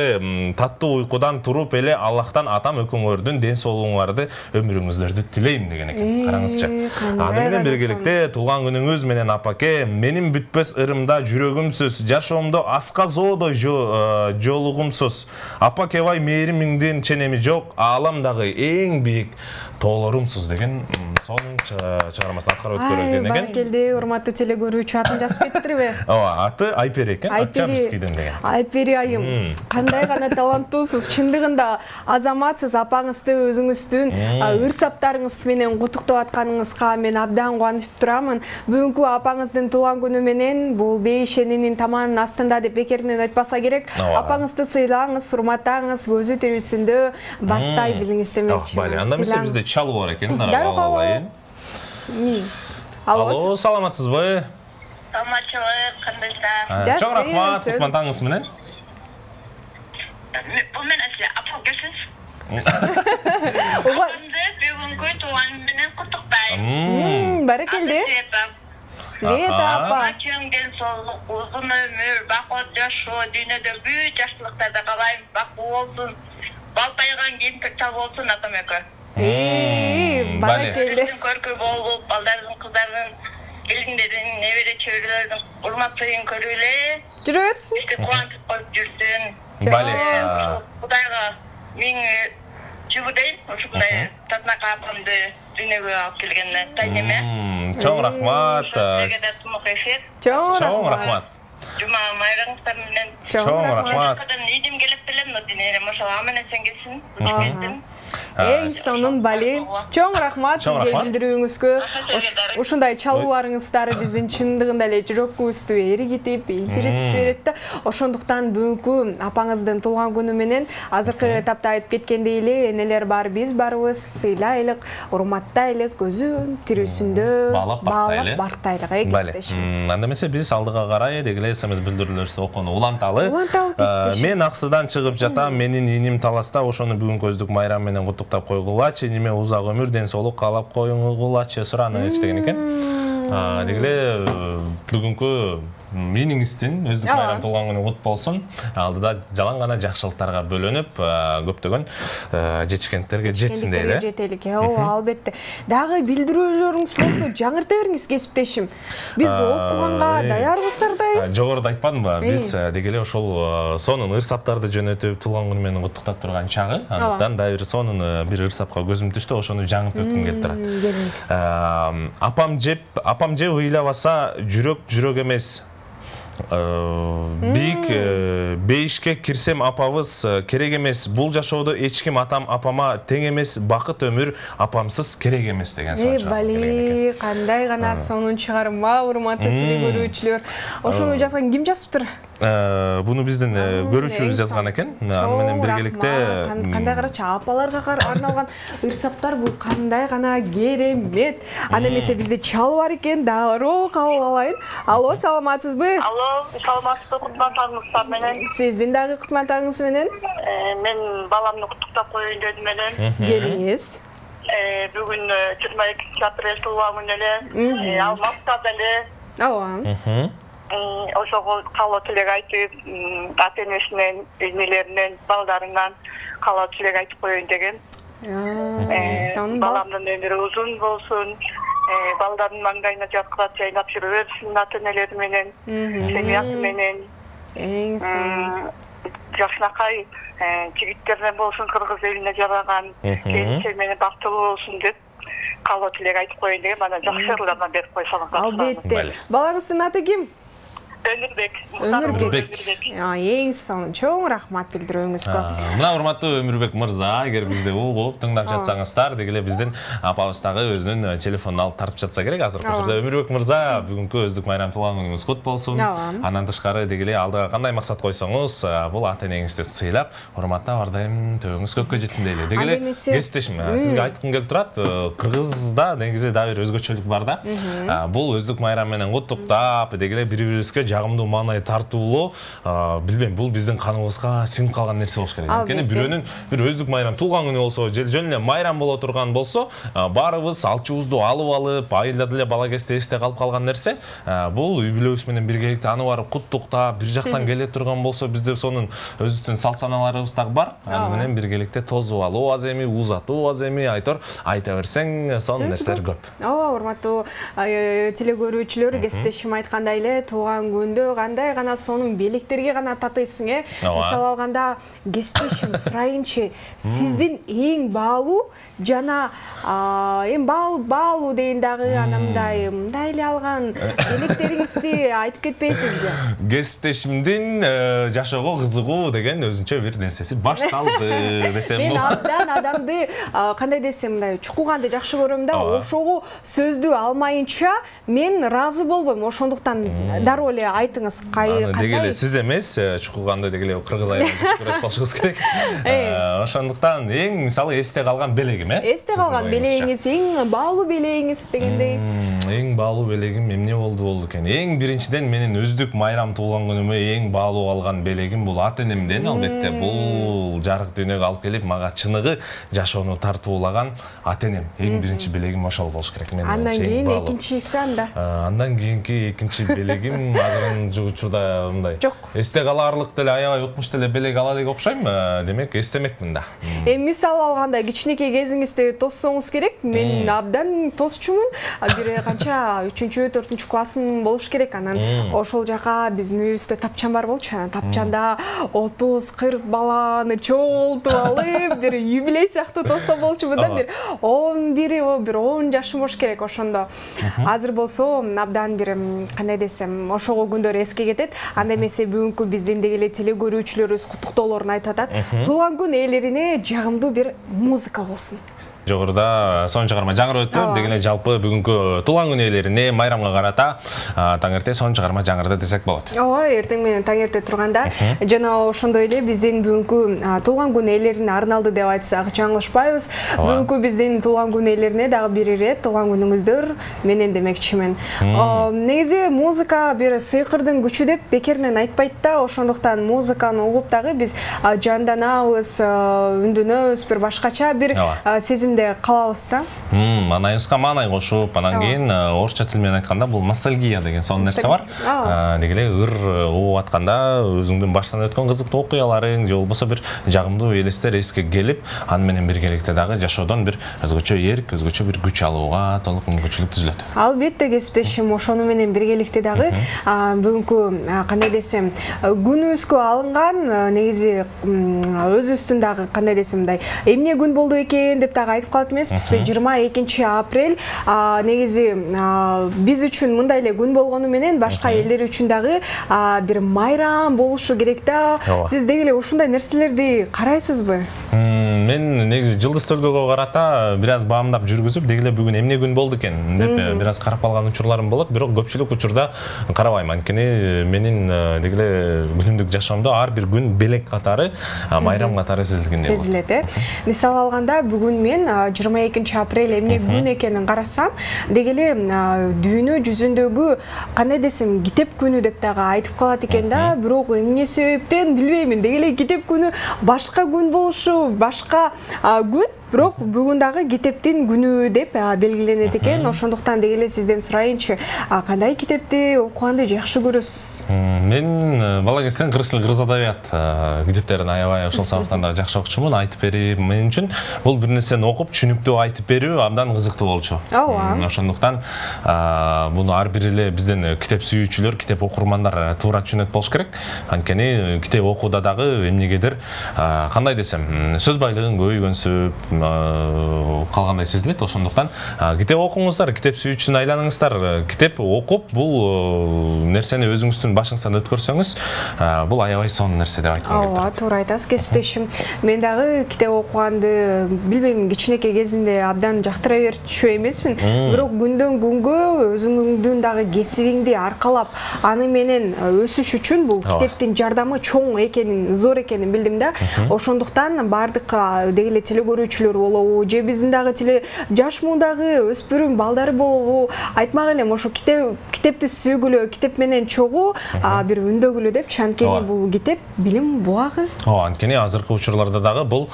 S1: таттуу уйкудан туруп эле Аллахтан атам өкүңөрдүн ден соолугуңарды, өмүрүңүздөрдү тилейм деген экен. Караңызчы. Аны менен биргеликте туулган күнүңүз менен апаке, менин бүтпөс ырымда жүрөгүмсүз, жашоомдо аска жоодой жолугумсуз. Апаке бай мээримиңдин ченеми жок, ааламдагы эң бийик тоолорумсуз деген сонун чыгармасын аткарып өткөргөн экен.
S2: Баракелде, урматтуу телекөрүүчү, атын жазып кетиптирби?
S1: Ооба, аты Айпери экен. Атчабискиден деген.
S2: Айпери айым. Кандай гана таланттуусуз. Чындыгында азаматсыз, апаңызды өзүңүздүн ырсаптарыңыз менен куттуктап атканыңызга мен абдан кубанып турамын. Бүгүнкү апаңыздын туулган күнү менен бул бейишенинин таманын астында деп бекеринен айтпаса керек. Апаңызды сыйлаңыз, урматтаңыз, көзү тирүүсүндө бартай билиңиз демекчимин.
S1: Анда эмесе бизде чалуу бар экен. Алайын. Алло, саламатсызбы?
S4: Саламатчылык, кандайсыздар?
S1: Чоң рахмат, кутман таңыңыз менен.
S4: Бул мен эле апам келсиз. Апамды бүгүнкү туулган менен куттуктайм.
S2: Баракелде. Света апа.
S4: Чоң ден соолук, узун өмүр, бакыт жашоо, дүйнөдө бүт жакшылыктарды каалайм. Бактылуу болсун, балтайган кемпир чал болсун атам экөө.
S2: Баракелде.
S4: Көркү болуп, балдардын, кыздардын, келиндердин, небере чөйрөлөрдүн урматтыгын көрүп эле.
S2: Жүрө берсин.
S4: Кубанып коюп жүрсүн. Кудайга миң жүгү дейм, ушундай татынака апамды дүйнөгө алып келгенине тайнеме.
S1: Чоң рахмат.
S2: Чоң
S1: рахмат.
S4: Жума майраңыздар менен.
S1: Чоң рахмат.
S4: Идим келип белем, но денере машалла менен сен келсин.
S2: Эң сонун бали. Чоң рахмат сизге билдирүүңүзгө. Ушундай чалууларыңыздар биздин чындыгында эле жүрөгүбүздү эригитип, ийгилетип жиберет да. Ошондуктан бүгүнкү апаңыздын туулган күнү менен азыркы этапта айтып кеткендей эле энелер бар, биз барбыз, сыйлайлык, урматтайлык, көзү тирүүсүндө
S1: баалап
S2: бактайлык.
S1: Анда эмесе биз алдыга карай дегеле СМС билдирүүлөрүбүздү окууну уланталы. Мен аксыдан чыгып жатам, менин иним таласта, ошону бүгүн көздүк майрам менен куттуктап койгулачы, эниме узак өмүр, ден соолук каалап коюңгулачы сураныч деген экен. Дегеле бүгүнкү мениңиздин өздүк майрам туулган күнү кут болсун. Алдыда жалаң гана жакшылыктарга бөлөнүп, көптөгөн жетишкендиктерге жетсин дейли.
S2: Жетелик, ооба, албетте. Дагы билдирүүлөрүңүз болсо жаңырта бериңиз кесиптешим. Биз окуганга даярбыздардай.
S1: Жогоруда айтпадымбы? Биз дегеле ошол сонун ырсаптарды жөнөтүп, туулган күнү менен куттуктап турган чагы. Андыктан да бир сонун бир ырсапка көзүм түштү, ошону жаңыртып өткүм келип турат. Апам жеп ыйлабаса жүрөк эмес. Бийик бейишке кирсем апабыз керек эмес. Бул жашоодо эч ким атам апама тең эмес. Бакыт өмүр апамсыз керек эмес деген сонун.
S2: Бали, кандай гана сонун чыгарма, урматтуу телекөрүүчүлөр. Ошону жазган ким жазыптыр?
S1: Буну биздин көрүүчүбүз жазган экен. Аны менен биргеликте
S2: кандай карачы апаларга арналган ырсаптар, бул кандай гана керемет. Аны эмесе бизде чал бар экен, дароо кабыл алайын. Алло, саламатсызбы?
S4: Алло, саламатсызбы, кутман таңыңыздар менен.
S2: Сиздин дагы кутман таңыңыз менен.
S4: Мен баламны куттуктап коеюн дедим элем.
S2: Келиңиз.
S4: Бүгүн 22 апрель туулган күнү эле. Алматта деле.
S2: Ооба.
S4: Ошого каалоо тилек айтып, ата-энесинен, эмелеринен, балдарынан каалоо тилек айтып коеюн деген. Баламдын өмүрү узун болсун, балдардын маңдайына жаркырап жайнап жүрө берсин ата-энелери менен, семьясы менен. Жакшынакай жигиттерден болсун, кыргыз элине жараган, келинчеги менен бактылуу болсун деп каалоо тилек айтып коеюн деген. Мана жакшы ырлардан берип койсоңуз.
S2: Албетте. Балаңыздын аты ким?
S4: Өмүрбек.
S2: Эң сонун чоң рахмат билдирүүңүзгө.
S1: Мына урматтуу Өмүрбек мырза, эгер бизди угуп тыңдап жатсаңыздар, дегеле биздин апабыз дагы өзүнүн телефонун алып тартып жатса керек. Азыркы учурда Өмүрбек мырза, бүгүнкү өздүк майрам туулган күнүңүз кут болсун. Андан тышкары дегеле алдыга кандай максат койсоңуз, бул ата-энеңизди сыйлап, урматтап ар дайым төбөңүз көккө жетсин дейли. Дегеле кесиптешим, сизге айткым келип турат, кыргызда негизи дагы бир өзгөчөлүк бар да. Бул өздүк майрам менен куттуктап, дегеле бири-бирибизге жагымдуу маанай тартуулоо, билбейм, бул биздин каныбызга сиңип калган нерсе болуш керек. Анткени бирөөнүн бир өздүк майрам туулган күнү болсо, жөн эле майрам боло турган болсо, баарыбыз алчуубузду алып, айылда деле бала кезде эсте калып калган нерсе, бул үй бүлөбүз менен биргеликте аны барып куттуктап, бир жактан келе турган болсо, бизде сонун өзүбүздүн салт саналарыбыз дагы бар. Аны менен биргеликте тосуп алуу аз эми, узатуу аз эми, айтор айта берсең, сонун нерселер көп.
S2: Ооба, урматтуу теле көрүүчүлөр, кесиптешим айткандай эле туулган күндө кандай гана сонун белектерге гана татыйсың, Мисалы алганда, кесиптешим сурайынчы, сиздин эң баалуу жана эң баалуу дейин дагы анамдай мындай эле алган белектериңизди айтып кетпейсизби?
S1: Кесиптешимдин жашоого кызыгуу деген өзүнчө бир нерсеси башталды десем болот.
S2: Мен абдан адамды кандай десем, мындай чукуганды жакшы көрөм да, ошого сөздү алмайынча мен ыраазы болбойм. Ошондуктан дароо эле айтыңыз, кандай?
S1: Дегеле сиз эмес, чукуганды дегеле кыргыз айылын жакшы көрөт болушуңуз керек. Ошондуктан эң мисалы эсте калган белегим,
S2: Эсте калган белегиңиз, эң баалуу белегиңиз дегендей.
S1: Эң баалуу белегим эмне болду экен? Эң биринчиден менин өздүк майрам туулган күнүмө эң баалуу калган белегим бул ата-энемден, албетте. Бул жарык дүйнөгө алып келип, мага чыныгы жашоону тартуулаган ата-энем. Эң биринчи белегим ошол болуш керек.
S2: Андан кийин экинчиси анда.
S1: Андан кийинки экинчи белегим азыркы учурда мындай. Эсте калаарлык деле аябай утмуш деле белег ала элек окшойм, демек эстемекмин да.
S2: Мисалы алганда кичинекей кезиңизде тоссоңуз керек. Мен абдан тосчумун. Бир канча 3-4 классым болуш керек. Анан ошол жака биздин үйүбүздө тапчан бар болчу. Тапчанда 30-40 баланы чогултуп алып, бир юбилей сыяктуу тоскон болчумун да. Бир 10 жашым болуш керек ошондо. Азыр болсо абдан бир кандай десем, ошого күндөр эске кетет. Анда эмесе бүгүнкү биздин дегеле теле көрүүчүлөрүбүз куттуктоолорун айтып атат. Туулган күн ээлерине жагымдуу бир музыка болсун.
S1: Жогоруда сонун чыгарма жаңырып өттү. Дегеле жалпы бүгүнкү туулган күн ээлерине майрамга карата таң эрте сонун чыгарма жаңырды десек болот.
S2: Ооба, эртең менен таң эрте турганда жана ошондой эле биздин бүгүнкү туулган күн ээлерине арналды деп айтсак жаңылышпайбыз. Бүгүнкү биздин туулган күн ээлерине дагы бир ирет туулган күнүңүздөр менен демекчимин. Негизи музыка бир сыйкырдын күчү деп бекеринен айтпайт да. Ошондуктан музыканы угуп дагы биз жанданабыз, үндөнөбүз, бир башкача бир сезимде калабыз да.
S1: Маанайыбызга маанай кошуп, анан кийин орусча тил менен айтканда бул ностальгия деген сонун нерсе бар. Дегеле ыр угуп атканда өзүңдүн баштан өткөн кызыктуу окуяларың же болбосо бир жагымдуу элестер эске келип, аны менен биргеликте дагы жашоодон бир өзгөчө эрк, өзгөчө бир күч алууга толук мүмкүнчүлүк түзүлөт.
S2: Албетте кесиптешим, ошону менен биргеликте дагы бүгүнкү кандай десем, күнүбүзгө алынган негизи өзүбүздүн дагы кандай десем мындай эмне күн болду экен деп дагы айтып калат эмеспизби? 22 апрель негизи биз үчүн мындай эле күн болгону менен башка элдер үчүн дагы бир майрам болушу керек да. Сиз дегеле ушундай нерселерди карайсызбы?
S1: Мен негизи жылдыз төлгөгө карата бир аз баамдап жүргүзүп, дегеле бүгүн эмне күн болду экен деп бир аз карап калган учурларым болот, бирок көпчүлүк учурда карабайм. Анткени менин дегеле күнүмдүк жашоомдо ар бир күн белек катары, майрам катары сезилгендей болот.
S2: Сезилет, Мисалы алганда бүгүн мен 22 апрель эмне күн экенин карасам, дегеле дүйнө жүзүндөгү кандай десем китеп күнү деп дагы айтып калат экен да. Бирок эмне себептен билбеймин, дегеле китеп күнү башка күн болушу, башка күн Бирок бүгүн дагы китептин күнү деп белгиленет экен. Ошондуктан деги эле сизден сурайынчы, кандай китепти окуганды жакшы көрөсүз?
S1: Мен бала кезден кыргыз тили, кыргыз адабият китептерин аябай ошол сабактан дагы жакшы окучумун. Айтып берип, мен үчүн бул бир нерсени окуп, түшүнүктүү айтып берүү абдан кызыктуу болчу. Ошондуктан буну ар бир эле бизден китеп сүйүүчүлөр, китеп окурмандар туура түшүнөт болуш керек. Анткени китеп окууда дагы эмнегедир кандай десем, сөз байлыгын көбөйгөнсүп калгандай сезилет. Ошондуктан китеп окуңуздар, китеп сүйүүчүсүн айланыңыздар. Китеп окуп, бул нерсени өзүңүздүн башыңыздан өткөрсөңүз, бул аябай сонун нерсе деп айткым келет.
S2: Ооба, туура айтасыз, кесиптешим. Мен дагы китеп окуганды билбейм, кичинекей кезимде абдан жактыра берчү эмесмин. Бирок күндөн күнгө өзүңдүн дагы кесибиңди аркалап, аны менен өсүш үчүн бул китептин жардамы чоң экенин, зор экенин билдим да. Ошондуктан бардык деги эле теле көрүүчүлөр болобу, же биздин дагы жаш муундагы өспүрүм балдары болобу, айтмак элем ошо китепти сүйгүлө, китеп менен чогуу бир үндөгүлө депчи. Анткени бул китеп билим буагы.
S1: Анткени азыркы учурларда дагы бул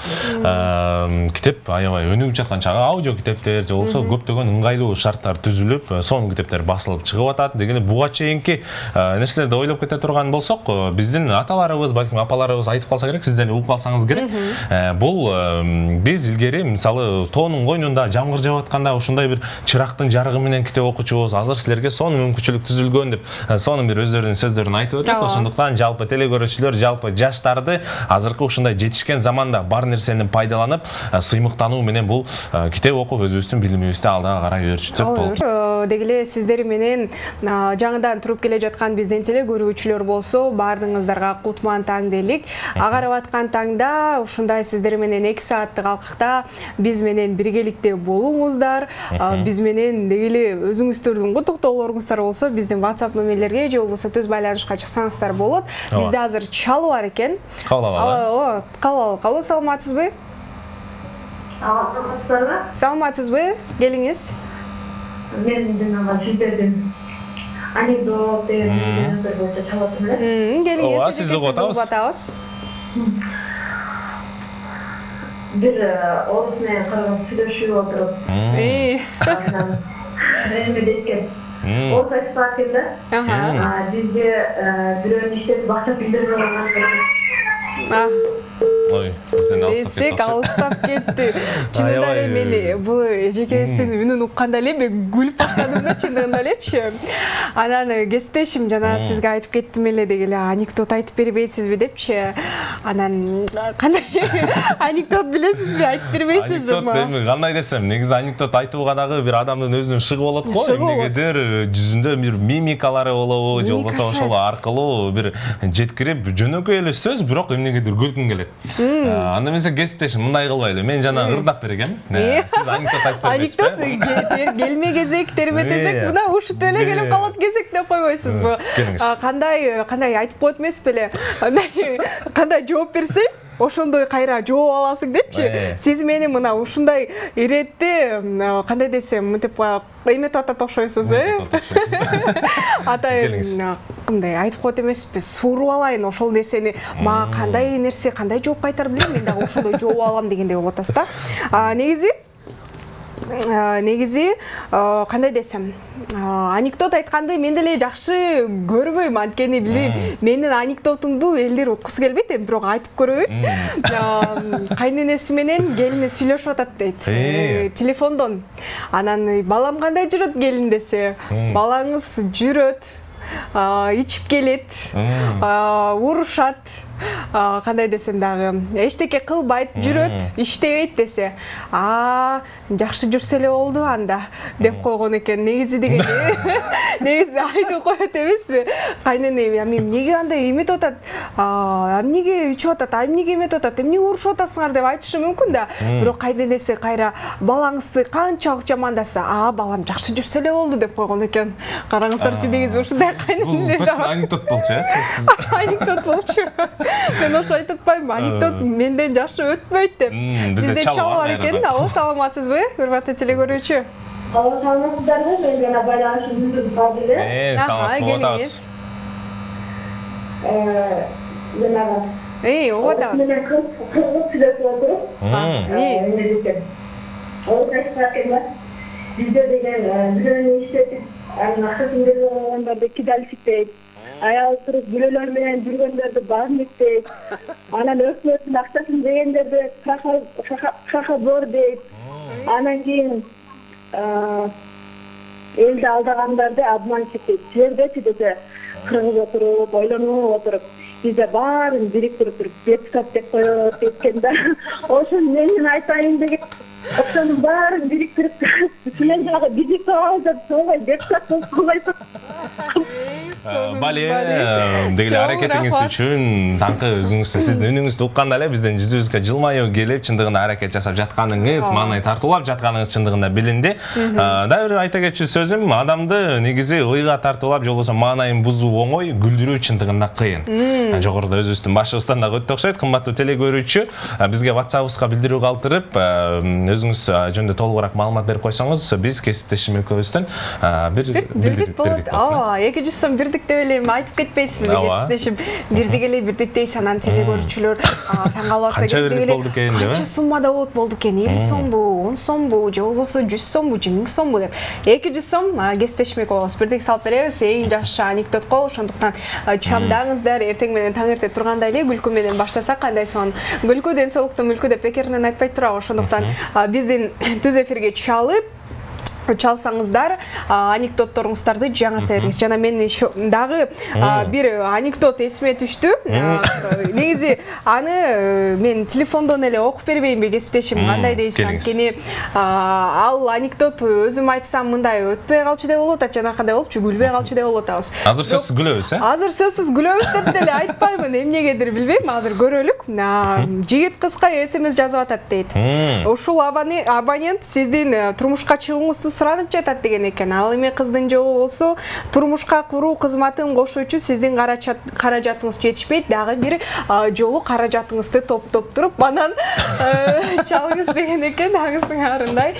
S1: китеп аябай өнүгүп жаткан чагы, аудио китептер же болбосо көптөгөн ыңгайлуу шарттар түзүлүп, сонун китептер басылып чыгып атат. Деги эле буга чейинки нерселерди ойлоп кете турган болсок, биздин аталарыбыз, балким апаларыбыз айтып калса керек, сиздер угуп калсаңыз керек. Бул биз илгери мисалы тоонун койнунда жамгыр жаап атканда ушундай бир чырактын жарыгы менен китеп окучубуз. Азыр силерге сонун мүмкүнчүлүк түзүлгөн деп сонун бир өздөрүнүн сөздөрүн айтып өтөт. Ошондуктан жалпы теле көрүүчүлөр, жалпы жаштарды азыркы ушундай жетишкен заманда бар нерсени пайдаланып, сыймыктануу менен бул китеп окуп өзүбүздүн билимибизди алдыга карай өөрчүтсөк болот.
S2: Деги эле сиздер менен жаңыдан туруп келе жаткан биздин теле көрүүчүлөр болсо, баардыгыңыздарга кутман таң дейлик. Агарып аткан таңда ушундай сиздер менен 2 сааттык алкакта биз менен биргеликте болуңуздар. Биз менен деги эле өзүңүздөрдүн куттуктоолоруңуздар болсо, биздин WhatsApp номерлерге же болбосо түз байланышка чыксаңыздар болот. Бизде азыр чалуу бар экен.
S1: Кабыл алалы.
S2: Кабыл, саламатсызбы? Саламатсызбы? Келиңиз.
S5: Мен жанагы сиздердин анекдот деген боюнча чалатым эле.
S2: Келиңиз,
S1: сизди угуп атабыз.
S5: Бир орус менен кыргыз сүйлөшүп отуруп. Эме дейт экен. Орус айтып атат да. Бизде бирөөнүн иштеп бакча билдирбей койгон.
S1: Ой, бизден
S2: алыстап кетти. Чынында эле мен бул эжекебиздин үнүн укканда эле мен күлүп баштадым да, чынында элечи. Анан кесиптешим жана сизге айтып кеттим эле деги эле анекдот айтып бербейсизби депчи. Анан кандай анекдот билесизби, айтып бербейсизби?
S1: Анекдот кандай десем, негизи анекдот айтууга дагы бир адамдын өзүнүн шыгы болот го. Эмнегедир жүзүндө бир мимикалары болобу, же болбосо ошол аркылуу бир жеткирип жөнөкөй эле сөз, бирок эмнегедир күлкүң келет. Анда мен кесиптешим мындай кылбайлы. Мен жана ырдап бергем. Сиз анекдот айтып бербейсизби?
S2: Анекдот келме кезек, терме тезек, мына ушут эле келип калат кезек деп койбойсузбу? Кандай айтып коет эмеспи эле? Кандай жооп берсең, ошондой кайра жооп аласың депчи. Сиз мени мына ушундай иретти, кандай десем, мынтип эметип атат окшойсуз, Атай кандай айтып коет эмеспи? Сууруп алайын ошол нерсени. Мага кандай нерсе, кандай жооп кайтарып билем, мен дагы ошондой жооп алам дегендей болуп атасыз да. Негизи кандай десем, анекдот айтканды мен деле жакшы көрбөйм, анткени билбейм, менин анекдотумду элдер уккусу келбейт, бирок айтып көрөйүн. Кайненеси менен келини сүйлөшүп атат дейт, телефондон. Анан балам кандай жүрөт келин десе, балаңыз жүрөт, ичип келет, урушат, кандай десем дагы, эчтеке кылбайт, жүрөт, иштебейт десе, жакшы жүрсө эле болду анда деп койгон экен. Негизи дегенде, негизи айтып коет эмеспи? Кайнене, эмнеге андай эметип атат? Эмнеге ичип атат? Эмнеге эметип атат? Эмнеге урушуп атасыңар деп айтышы мүмкүн да. Бирок кайненеси кайра балаңызды канчалык жамандаса, балам жакшы жүрсө эле болду деп койгон экен. Караңыздарчы, негизи ушундай кайненелер.
S1: Бул точно анекдот болчу,
S2: Анекдот болчу. Мен ошо айтып атпаймынбы, анекдот менден жакшы өтпөйт деп. Бизде чалуу бар экен. Алло, саламатсызбы, урматтуу теле көрүүчү?
S5: Саламатсыздарбы? Мен жана байланышым үзүлүп калды эле.
S1: Саламатсыз болуп атабыз.
S5: Жанагы
S2: ого атабыз.
S5: Менен кыргыз сүйлөшүп отуруп. Ол айтпакында бизде деген бирөөнү иштетип, анын акысын бербей койгондорду кидалчыктейт. Аял туруп бүлөлөр менен жүргөндөрдү базмиктейт. Анан өкмөттүн акчасын жегендерди шахабор дейт. Анан кийин элди алдагандарды обманщик дейт. Силердечи десе кыргыз отуруп, ойлонуп отуруп, бизде баарын бириктирип туруп депутат деп коет экен да. Ошону менин айтайын деген. Ошонун баарын бириктирип, силер дагы биздик алып, ой депутат болуп койсоң.
S1: Бали, дегеле аракетиңиз үчүн даңкы өзүңүзгө, сиздин үнүңүздү укканда эле биздин жүзүбүзгө жылмаюу келип, чындыгында аракет жасап жатканыңыз, маанай тартуулап жатканыңыз чындыгында билинди. Дагы бир айта кетчү сөзүм, адамды негизи ыйга тартуулап, же болбосо маанайын бузуу оңой, күлдүрүү чындыгында кыйын. Жогоруда өзүбүздүн башыбыздан дагы өтүп окшойт. Кымбаттуу телегөрүүчү, бизге WhatsApp-ыбызга билдирүү калтырып, өзүңүз жөнүндө толугураак маалымат берип койсоңуз, биз кесиптешим экөөбүздөн бир бирдик болот.
S2: 200 сом бирдик деп эле айтып кетпейсизби кесиптешим? Бирдик эле бирдик дейсиз, анан телегөрүүчүлөр таң калып атса
S1: керек деле.
S2: Канча суммада болот экен? 50 сомбу, 10 сомбу, же болбосо 100 сомбу, же 1000 сомбу деп. 200 сом кесиптешим экөөбүз бирдик салып беребиз. Эң жакшы анекдотко, ошондуктан чамдаңыздар, эртең менен таң эрте турганда эле күлкү менен баштасак кандай сонун. Күлкү ден соолуктун мүлкү деп бекеринен айтпайт турабы. Ошондуктан биздин түз эфирге чалсаңыздар, анекдотторуңуздарды жаңырта бериңиз. Жана мен дагы бир анекдот эсиме түштү. Негизи аны мен телефондон эле окуп бербейинби кесиптешим, кандай дейсиз? Анткени ал анекдот өзүм айтсам мындай өтпөй калчу деп болуп атат, жана кандай болупчу, күлбөй калчу деп болуп атабыз.
S1: Азыр сөзсүз күлөбүз,
S2: Азыр сөзсүз күлөбүз деп деле айтпаймын, эмнегедир билбейм, азыр көрөлүк. Жигит кызга SMS жазып атат дейт. Ушул абонент сиздин турмушка чыгууңузду суранып жатат деген экен. Ал эми кыздын жобу болсо, турмушка куруу кызматын кошуучу сиздин каражатыңыз жетишпейт, дагы бир жолу каражатыңызды топтоп туруп, анан чалыңыз деген экен, аңыздын арындай.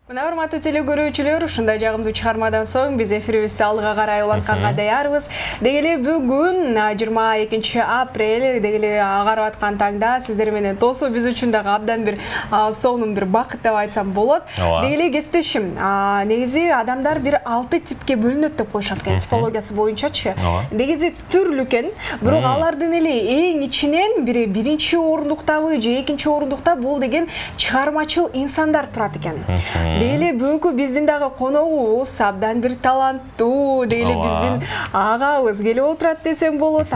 S2: Мына урматтуу телегөрүүчүлөр, ушундай жагымдуу чыгармадан соң биз эфирибизди алдыга карай улантканга даярбыз. Дегеле бүгүн 22 апрель, дегеле агарып аткан таңда сиздер менен тосуу биз үчүн дагы абдан бир сонун бир бакыт деп айтсам болот. Дегеле кесиптешим, негизи адамдар бир 6 типке бөлүнөт деп коюшат экен, типологиясы боюнчачы. Негизи түрлүү экен, бирок алардын эле эң ичинен бири биринчи орундуктабы же экинчи орундукта бул деген чыгармачыл инсандар турат экен. Дегеле бүгүнкү биздин дагы коногубуз абдан бир таланттуу, дегеле биздин агабыз келип отурат десем болот.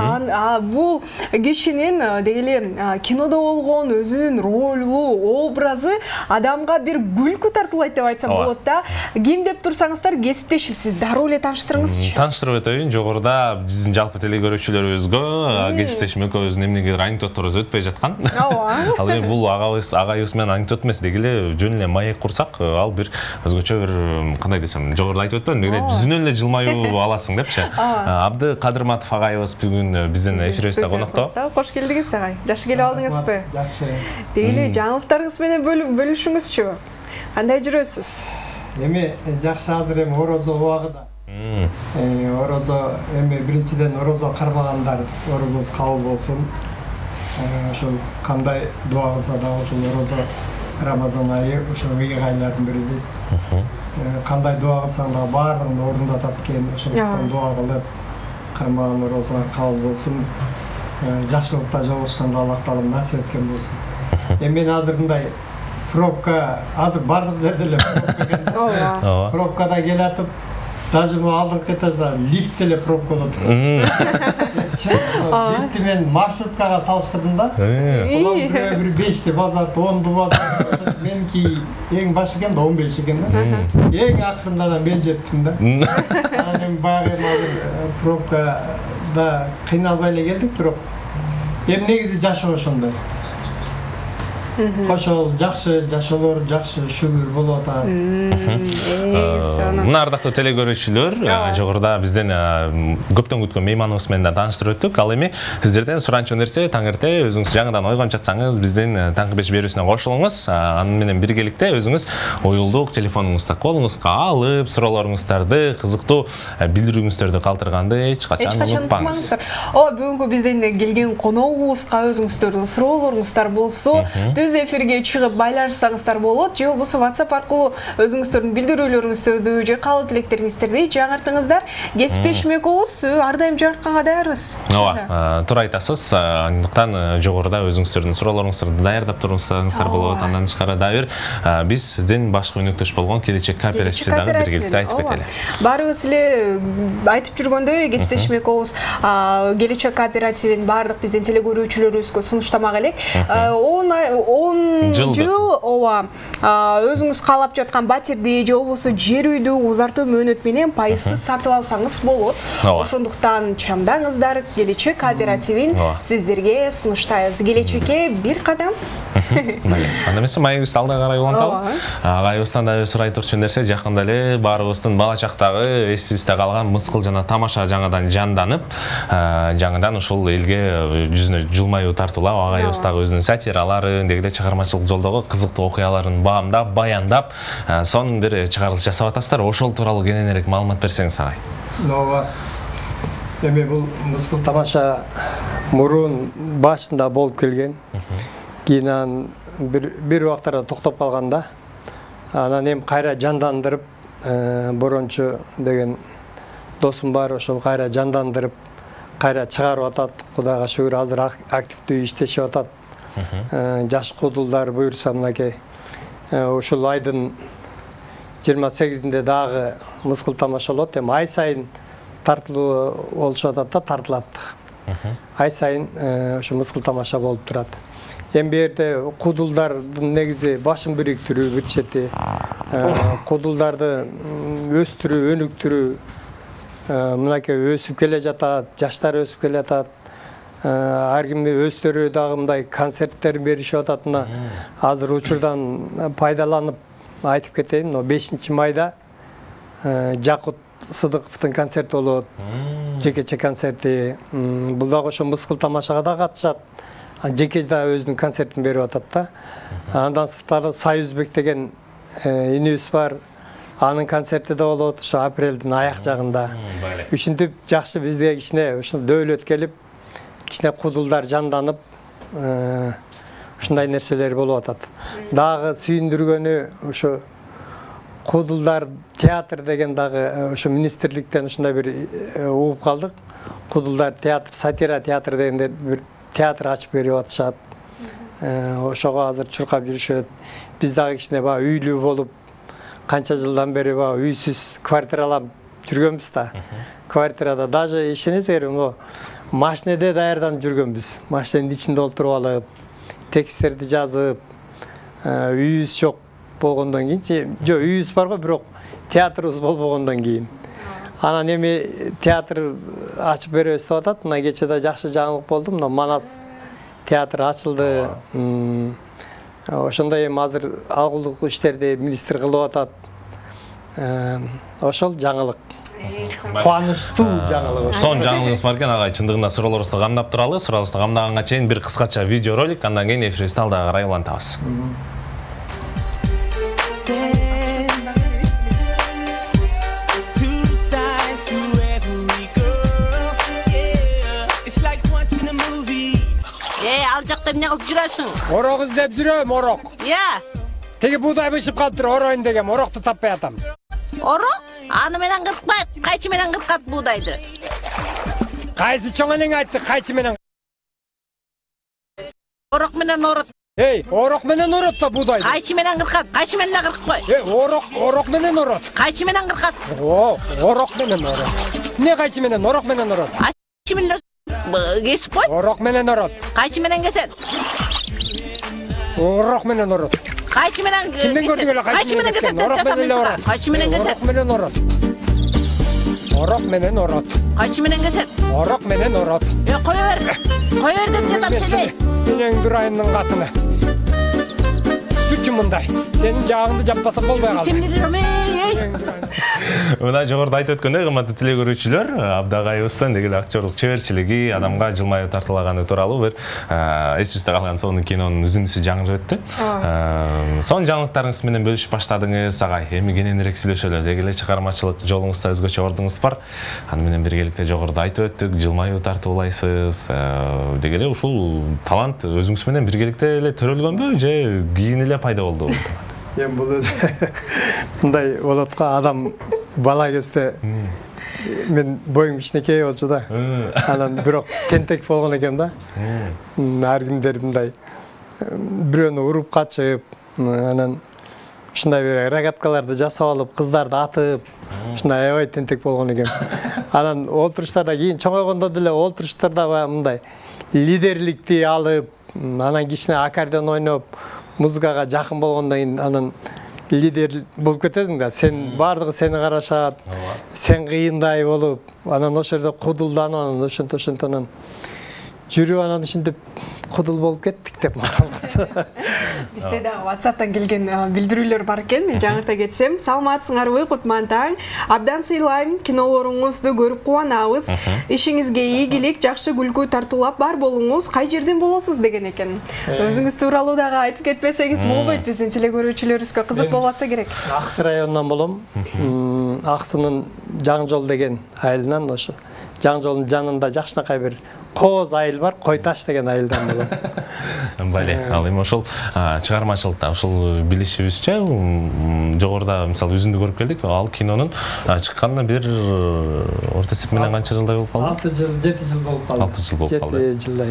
S2: Бул кишинин дегеле кинодо болгон өзүнүн ролу, образы адамга бир күлкү тартуулайт деп айтсам болот да. Ким деп турсаңыздар кесиптешим, сиз дароо эле тааныштырыңызчы.
S1: Тааныштырып өтөйүн, жогоруда биздин жалпы телегөрүүчүлөрүбүзгө кесиптешим экөөбүздүн эмнегедир анекдотторубуз өтпөй жаткан. Ал эми бул агайыбыз менен анекдот эмес, дегеле жөн эле маек курсак, ал бир өзгөчө бир кандай десем, жогоруда айтып өттүм, эле жүзүнөн эле жылмаюу аласың депчи. Абды Кадырматов агайыбыз бүгүн биздин эфирибизде конокто.
S2: Кош келдиңиз агай. Жакшы келип алдыңызбы?
S6: Жакшы.
S2: Дегеле жаңылыктарыңыз менен бөлүшүңүзчү. Кандай жүрөсүз?
S6: Эми жакшы, азыр эми орозо убагында. Орозо эми биринчиден орозо кармагандар орозосу кабыл болсун. Ошол кандай дуа кылса да ошол орозо Рамазан айы ошо ыйык айлардын бири дейт. Кандай дуа кылсаң да баардыгын орундатат экен. Ошондуктан дуа кылып, кармаган орозо кабыл болсун. Жакшылыкта жолугушканда Аллах Таалам насип эткен болсун. Эми мен азыр мындай пробка, азыр бардык жерде эле пробка экен. Пробкада келатып, даже бу алдыңкы этажда лифт эле пробка болот. Лифтти мен маршруткага салыштырдым да. Улам бир 5 деп базат, 10 деп базат. Меники эң баш экен да 15 экен да. Эң акырында мен жеттим да. Анан багы пробкада кыйналбай эле келдик, бирок эми негизи жашоо ошондой. ошол жакшы жашоолор жакшы шүгүр болуп атат.
S1: Мына ардактуу телекөрүүчүлөр, жогоруда бизден көптөн күткөн мейманыбыз менен да тааныштырып өттүк. Ал эми сиздерден суранчу нерсе таң эрте өзүңүз жаңыдан ойгонуп жатсаңыз, биздин таңкы 5 берүүсүнө кошулуңуз. Аны менен биргеликте өзүңүз уюлдук телефонуңузду колуңузга алып, суроолоруңуздарды, кызыктуу билдирүүңүздөрдү калтырганды эч качан унутпаңыз.
S2: Бүгүнкү бизден келген коногубузга өзүңүздөрдүн суроолоруңуздар болсо, түз эфирге чыгып байланышсаңыздар болот, же болбосо WhatsApp аркылуу өзүңүздөрдүн билдирүүлөрүңүздөрдү же каалоо тилектериңиздерди жаңыртыңыздар. Кесиптешмекобуз ар дайым жаңыртканга даярбыз.
S1: Ооба, туура айтасыз. Андыктан жогоруда өзүңүздөрдүн суроолоруңуздарды даярдап турсаңыздар болот. Андан тышкары дагы биз сиздин башкы өнөктөш болгон Келечек кооперативди дагы биргеликте айтып кетели.
S2: Баарыбыз эле айтып жүргөндөй, кесиптешмекобуз Келечек кооперативин баардык биздин телекөрүүчүлөрүбүзгө сунуштамак элек. 10 жыл ооба өзүңүз каалап жаткан батирди же болбосо жер үйдү узартуу мөөнөт менен пайызсыз сатып алсаңыз болот. Ошондуктан чамдаңыздар, Келечек кооперативин сиздерге сунуштайбыз. Келечекке бир кадам.
S1: Анда эмесе майыбызды алда карай уланталы. Агайыбыздан да сурай турчу нерсе, жакында эле баарыбыздын бала чактагы эсибизде калган мыскыл жана тамаша жаңыдан жанданып, жаңыдан ушул элге жүзүнө жылмаюу тартуулап, агайыбыз дагы өзүнүн сатираларын, дегиде чыгармачылык жолдогу кызыктуу окуяларын баамдап, баяндап, сонун бир чыгарылыш жасап атасыздар. Ошол тууралуу кененирээк маалымат берсеңиз агай.
S6: Ооба. Эми бул мыскыл тамаша мурун башында болуп келген. Кийин бир убактарда токтоп калганда, анан эми кайра жандандырып, Борончу деген досум бар, ошол кайра жандандырып, кайра чыгарып атат. Кудайга шүгүр, азыр активдүү иштешип атат. Жаш кудулдар буюрса мынакей. Ушул айдын 28-inde дагы мыскыл тамаша болот. Эми ай сайын тартылуу болушуп атат да, тартылат. Ай сайын ошо мыскыл тамаша болуп турат. Эми бу жерде кудулдардын негизи башын бириктирүү, бир чети кудулдарды өстүрүү, өнүктүрүү, мынакей өсүп келе жатат, жаштар өсүп келе жатат. Ар ким өздөрү дагы мындай концерттер беришип атат. Азыр учурдан пайдаланып айтып кетейин, 5-майда Жакут Сыдыковдун концерти болот. Жекече концерти. Бул дагы ошо мыскыл тамашага да катышат. Жеке да өзүнүн концертин берип атат да. Андан сырткары Союзбек деген инибиз бар. Анын концерти да болот ошо апрелдин аяк жагында. Ушинтип жакшы бизге кичине ушул дөөлөт келип, кичине кудулдар жанданып, ушундай нерселер болуп атат. Дагы сүйүндүргөнү ошо кудулдар театр деген дагы ошо министрликтен ушундай бир угуп калдык. Кудулдар театр, сатира театр дегенде бир театр ачып берип атышат. Ошого азыр чуркап жүрүшөт. Биз дагы кичине баягы үйлүү болуп, канча жылдан бери баягы үйсүз квартиралап жүргөнбүз да. Квартирада даже ишенесиңерби, могу машинеде даярданып жүргөнбүз. Машиненин ичинде отуруп алып, тексттерди жазып, үйүбүз жок болгондон кийин, жок, үйүбүз бар го, бирок театрыбыз болбогондон кийин. Анан эми театр ачып беребиз деп атат. Мына кечеде жакшы жаңылык болду. Мына Манас театр ачылды. Ошондой эми азыр алгылык иштерди министр кылып атат. Ошол жаңылык. Кубанычтуу жаңылык.
S1: Сон жаңылыгыңыз бар экен агай, чындыгында суроолорубузду камдап туралы. Суроолорубузду камдаганга чейин бир кыскача видео ролик, андан кийин эфирибизди алдыга карай улантабыз.
S7: Ал жакта эмне кылып жүрөсүң?
S6: Орок издеп жүрөм, орок. Теги буудай бышып калыптыр, ороюн дегем, орокту таппай атам.
S7: Орок? Аны менен кыркпайт, кайчы менен кыркат буудайды?
S6: Кайсы чоң энең айтты, кайчы менен?
S7: Орок менен орот.
S6: Орок менен орот да буудайды.
S7: Кайчы менен кыркат, кайчы менен кыркпай.
S6: Орок менен орот.
S7: Кайчы менен кыркат?
S6: Орок менен орот. Эмне кайчы менен, орок менен орот?
S7: Кайчы менен кесип кой?
S6: Орок менен орот.
S7: Кайчы менен кесет?
S6: Орок менен орот.
S7: Кайчы менен кесет?
S6: Кимден көрдүң эле
S7: кайчы менен кесет?
S6: Орок менен орот.
S7: Кайчы менен кесет?
S6: Орок менен орот. Орок менен орот.
S7: Кайчы менен кесет?
S6: Орок менен орот.
S7: Кое бер. Кое бер деп жатам сени.
S6: Менен Дурайымдын катыны. күчүм мындай. Сенин жагыңды жаппасак болбой калды.
S1: Мына жогоруда айтып өткөндөй, кымбаттуу теле көрүүчүлөр, Абдагайыбыздын деги актерлук чеберчилиги, адамга жылмаюу тартылаганы тууралуу бир эсибизде калган сонун кинонун үзүндүсү жаңырып өттү. Сонун жаңылыктарыңыз менен бөлүшүп баштадыңыз, агай. Эми кененирээк сүйлөшөлү. Деги эле чыгармачылык жолуңузда өзгөчө ордуңуз бар. Аны менен биргеликте жогоруда айтып өттүк, жылмаюу тартуулайсыз. Деги эле ушул талант өзүңүз менен биргеликте эле төрөлгөнбү же кийин эле пайда болдубу?
S6: Эми бул өзү мындай болот го, адам бала кезде мен боюм кичинекей болчу да. Анан бирок тентек болгон экем да. Ар кимдер мындай бирөөнү уруп качып, анан ушундай бир рогаткаларды жасап алып, кыздарды атып, ушундай аябай тентек болгон экем. Анан олтуруштарда кийин чоңойгондо деле олтуруштарда баягы мындай лидерликти алып, анан кичине аккордеон ойноп, музыкага жакын болгондон кийин анан лидер болуп кетесиң да. Сен бардыгы сени карашат, сен кыйындай болуп, анан ошол жерде кудулданып, анан ошентон жүрүп, анан ушинтип кудул болуп кеттик деп маралгысы.
S2: Бизде дагы WhatsApp'тан келген билдирүүлөр бар экен. Мен жаңырта кетсем, саламатсыңарбы Кутман таң? Абдан сыйлайм, кинолоруңузду көрүп кубанабыз. Ишиңизге ийгилик, жакшы күлкү тартуулап бар болуңуз, кай жерден болосуз деген экен. Өзүңүз тууралуу дагы айтып кетпесеңиз болбойт, биздин теле көрүүчүлөрүбүзгө кызык болуп атса керек.
S6: Аксы районунан болом. Аксынын Жаң жол деген айылынан, ошо Жаң жолдун жанында жакшынакай бир Кооз айыл бар, Койташ деген айылдан болом.
S1: Бале, ал эми ошол чыгармачылыкта ошол билишибизче жогоруда мисалы үзүндү көрүп келдик. Ал кинонун чыкканына бир орто эсеп менен канча жылдай болуп калды?
S6: 6 жыл, 7 жыл болуп калды.
S1: 6 жыл болуп калды.
S6: 7 жылдай.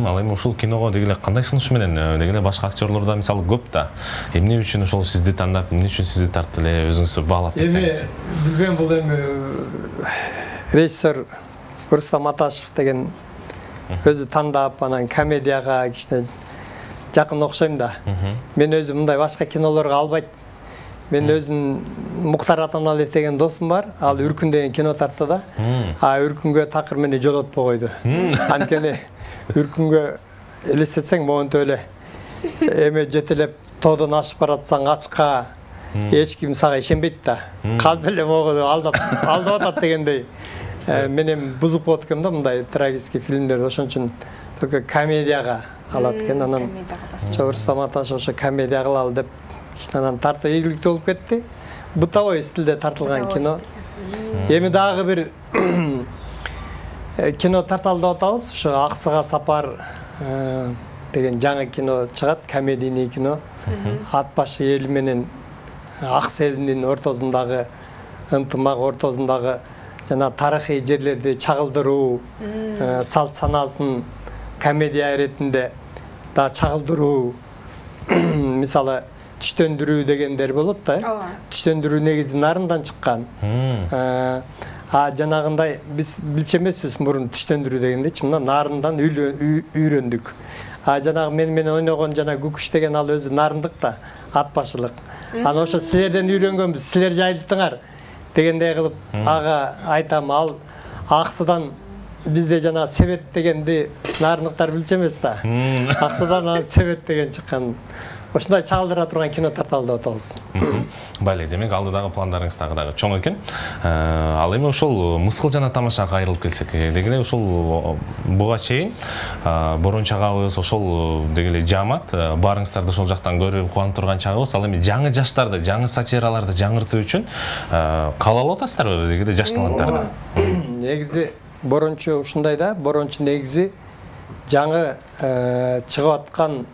S1: Ал эми ушул киного деги эле кандай сунуш менен, деги эле башка актерлор да мисалы көп да. Эмне үчүн ошол сизди тандап, эмне үчүн сизди тартты эле өзүңүзгө баалап кетсеңиз?
S6: Эми билбейм, бул эми режиссер Рустам Аташев деген өзү тандап, анан комедияга кичине жакын окшойм да. Мен өзүм мындай башка кинолорго албайт. Мен өзүм Муктар Атаналиев деген досум бар, ал Үркүн деген кино тартты да. Үркүнгө такыр мени жолотпой койду. Анткени Үркүнгө элестетсең монтип эле эме жетелеп тоодон ашып баратсаң ачка эч ким сага ишенбейт да. Калп эле могу алдап атат дегендей. Мен эми бузуп коет экем да мындай трагический фильмдерди, ошон үчүн только комедияга алат экен. Анан Рустам Аташев ошо комедия кылалы деп анан тартып ийгиликтүү болуп кетти. Бытовой стилде тартылган кино. Эми дагы бир кино тарталы деп атабыз. Ошо Аксыга сапар деген жаңы кино чыгат, комедийный кино. Ат башы эли менен Аксы элинин ортосундагы ынтымак, ортосундагы жана тарыхый жерлерди чагылдыруу, салт санаасын комедия иретинде да чагылдыруу. Мисалы түштөндүрүү дегендер болот да. Түштөндүрүү негизи нарындан чыккан. Жанагындай биз билчү эмеспиз мурун түштөндүрүү дегендечи, мына нарындан үйрөндүк. Жанагы менен ойногон жана Күкүш деген ал өзү нарындык да, ат башылык. Аны ошо силерден үйрөнгөнбүз, силер жайылттыңар дегендей кылып ага айтам. Ал Аксыдан бизде жана Себет дегенди нарындыктар билчү эмес да. Аксыдан Себет деген чыккан. Ошондой чагылдыра турган кино тарталы деп атабыз.
S1: Бале, демек алдыдагы пландарыңыз дагы чоң экен. Ал эми ошол мыскыл жана тамашага кайрылып келсек, деги эле ошол буга чейин Борон чагабыз, ошол деги эле жаамат баарыңыздарды ошол жактан көрүп кубанып турган чагыбыз. Ал эми жаңы жаштарды, жаңы сатираларды жаңыртуу үчүн каалап атасыздарбы деги эле жаш таланттарды?
S6: Негизи Борончу ушундай да, Борончу негизи жаңы чыгып аткан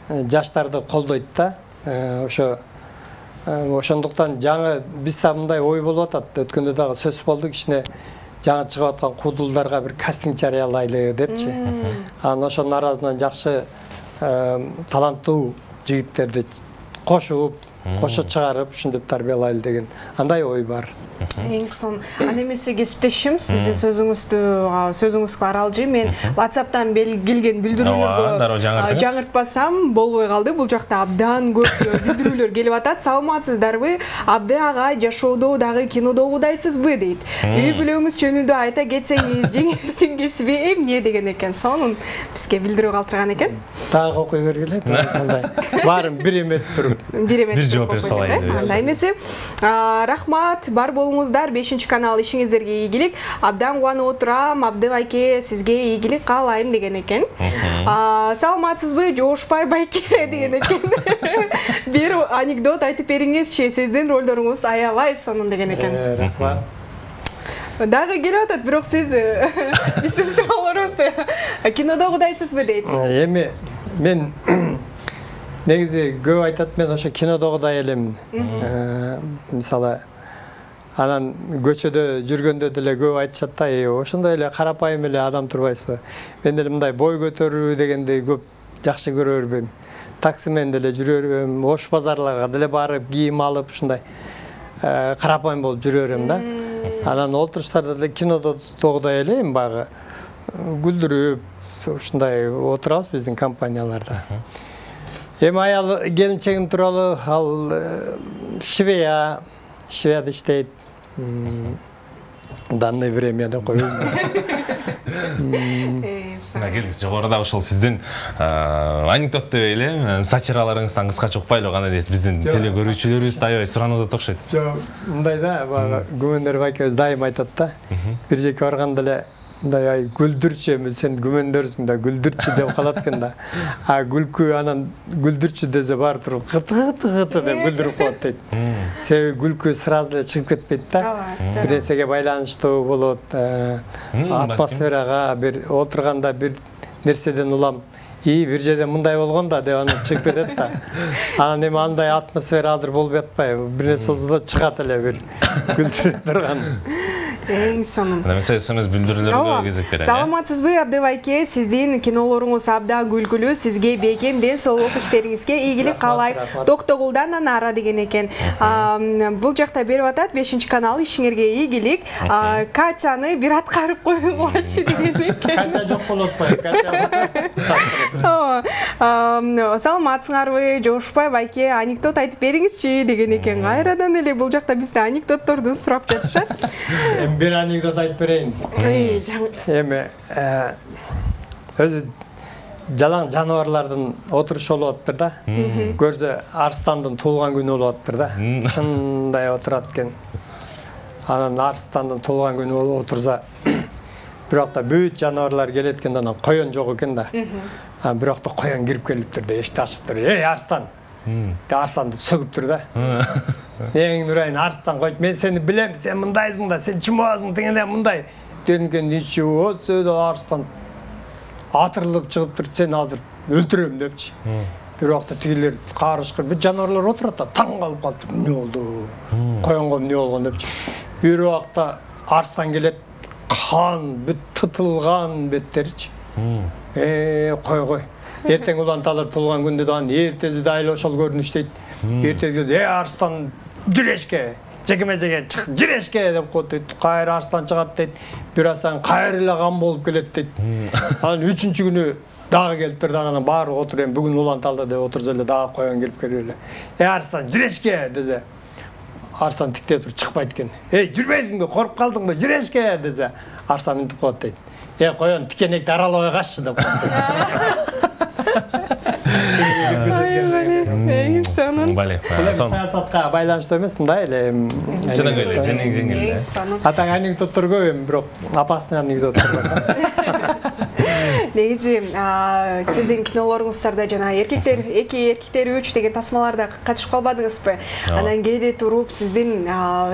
S6: жаштарды колдойт да. Ошондуктан жаңы бизде мындай ой болуп атат. Өткөндө дагы сөз болду, кичине жаңы чыгып аткан кудулдарга бир кастинг жарыялайлы депчи. Анан ошонун арасынан жакшы таланттуу жигиттерди кошуп, кошо чыгарып ушинтип тарбиялайлы деген андай ой бар.
S2: Эң сонун. Ана эмесе кесиптешим, сиздин сөзүңүзгө аралжы мен WhatsApp'тан келген билдирүүлөргө жаңыртпасам болбой калды. Бул жакта абдан көп билдирүүлөр келип атат. Саламатсыздарбы? Абды ага жашоодо дагы кинодо угудайсызбы дейт. Үй бүлөңүз жөнүндө айта кетсеңиз, жеңиңиздин кесиби эмне деген экен. Сонун бизге билдирүү калтырган экен.
S6: Дагы окуй бергиле. Баарын бир эметип туруп.
S1: Бир жооп берип салайын.
S2: Андай эмесе, рахмат, бар болуңуздар. 5-канал ишиңиздерге ийгилик. Абдан кубанып отурам. Абды байке, сизге ийгилик каалайм деген экен. Саламатсызбы, жоошпай байке деген экен. Бир анекдот айтып бериңизчи, сиздин ролдоруңуз аябай сонун деген экен.
S6: Рахмат.
S2: Дагы келип атат, бирок сиз биздин суроолорубузду кинодо угудайсызбы дейт.
S6: Эми мен негизи көп айтат, мен ошо кинодо угудай элем. Мисалы анан көчөдө жүргөндө деле көп айтышат да, ошондой эле карапайым эле адам турбайсызбы? Мен деле мындай бой көтөрүү дегенди көп жакшы көрө бербейм. Такси менен деле жүрө берем, ош базарларга деле барып, кийим алып, ушундай карапайым болуп жүрө берем да. Анан олтуруштарда деле кинодо угудай элем, баягы күлдүрүп, ушундай отурабыз биздин компанияларда. Эми аял келинчегим тууралуу, ал Швеяда иштейт. Данное время да коюм.
S1: Келиңиз, жогоруда ошол сиздин анекдот деп эле, сатираларыңыздан кыскача укпайлы кандай дейсиз, биздин телегөрүүчүлөрүбүз да аябай суранып атат окшойт.
S6: Жок, мындай да, баягы Күмөндөр байкебиз дайым айтат да. Бир жерге барганда эле мындай ай күлдүрчү, сен күмөндөрсүң да, күлдүрчү деп калат экен да. Күлкү анан күлдүрчү десе бар туруп кыты деп күлдүрүп коет дейт. Себеби күлкү сразу эле чыгып кетпейт да. Бир нерсеге байланыштуу болот, атмосферага, бир отурганда бир нерседен улам бир жерде мындай болгон да деп анан чыгып кетет да. Анан эми андай атмосфера азыр болбой атпайбы? Бир нерсе болсо чыгат эле бир күлдүрүп турган.
S2: Эң сонун.
S1: Эмесе СМС билдирүүлөргө кезек берем.
S2: Саламатсызбы, Абды байке? Сиздин кинолоруңуз абдан күлкүлүү. Сизге бекем ден соолук иштериңизге ийгилик каалайм. Токтогулдан Анара деген экен. Бул жакта берип атат, 5-канал ишиңерге ийгилик. Катяны бир аткарып коюңлачы деген экен.
S6: Катя жок болуп атпайбы?
S2: Катя саламатсыңарбы, Жоошпай байке? Анекдот айтып бериңизчи деген экен. Кайрадан эле бул жакта бизде анекдотторду сурап жатышат.
S6: Бир анекдот айтып берейин. Эми өзү жалаң жаныбарлардын отурушу болуп атыптыр да. Көрсө арстандын туулган күнү болуп атыптыр да. Ушундай отурат экен. Анан арстандын туулган күнү болуп отурса, бирокта бүт жаныбарлар келет экен, анан коён жок экен да. Бирокта коён кирип келиптир да, эшикти ачыптыр. Эй, арстан! Арстанды сөгүптүр да. Эң урайын, арстан койчу, мен сени билем, сен мындайсың да, сен чымабасың, дегенде мындай. Дегенде ничего, сөйдө арстан атырылып чыгыптыр, сен азыр өлтүрөм депчи. Бирокта тигилер карышкыр, бүт жаныбарлар отурат да, таң калып калыптыр. Эмне болду? Коёнго эмне болгон депчи. Бир убакта арстан келет, кан, бүт тытылган беттеричи. Кой. Эртең уланталып туулган күндө дагы эртеси дайыл ошол көрүнүш дейт. Эртеси арстан жүрешке, жекеме-жеке чык, жүрешке деп коет дейт. Кайра арстан чыгат дейт. Бир аздан кайра эле кан болуп келет дейт. Анан 3-чү күнү дагы келиптир, дагы баары отур, эми бүгүн уланталды деп отурса эле дагы коён келип келип эле. Арстан жүрешке десе, арстан тиктеп туруп чыкпайт экен. Жүрбөйсүңбү, коруп калдыңбы, жүрешке десе, арстан мынтип коет дейт. Коён тикенекти аралабай каччы деп коет.
S2: Сонун.
S6: Саясатка байланыштуу эмес, мындай эле.
S1: Жеңил.
S6: Атаң анекдоттор көп эми, бирок опасный анекдоттор бар.
S2: Негизи сиздин кинолоруңуздарда жана эркектер 2, эркектер 3 деген тасмаларда катышып калбадыңызбы? Анан кээде туруп сиздин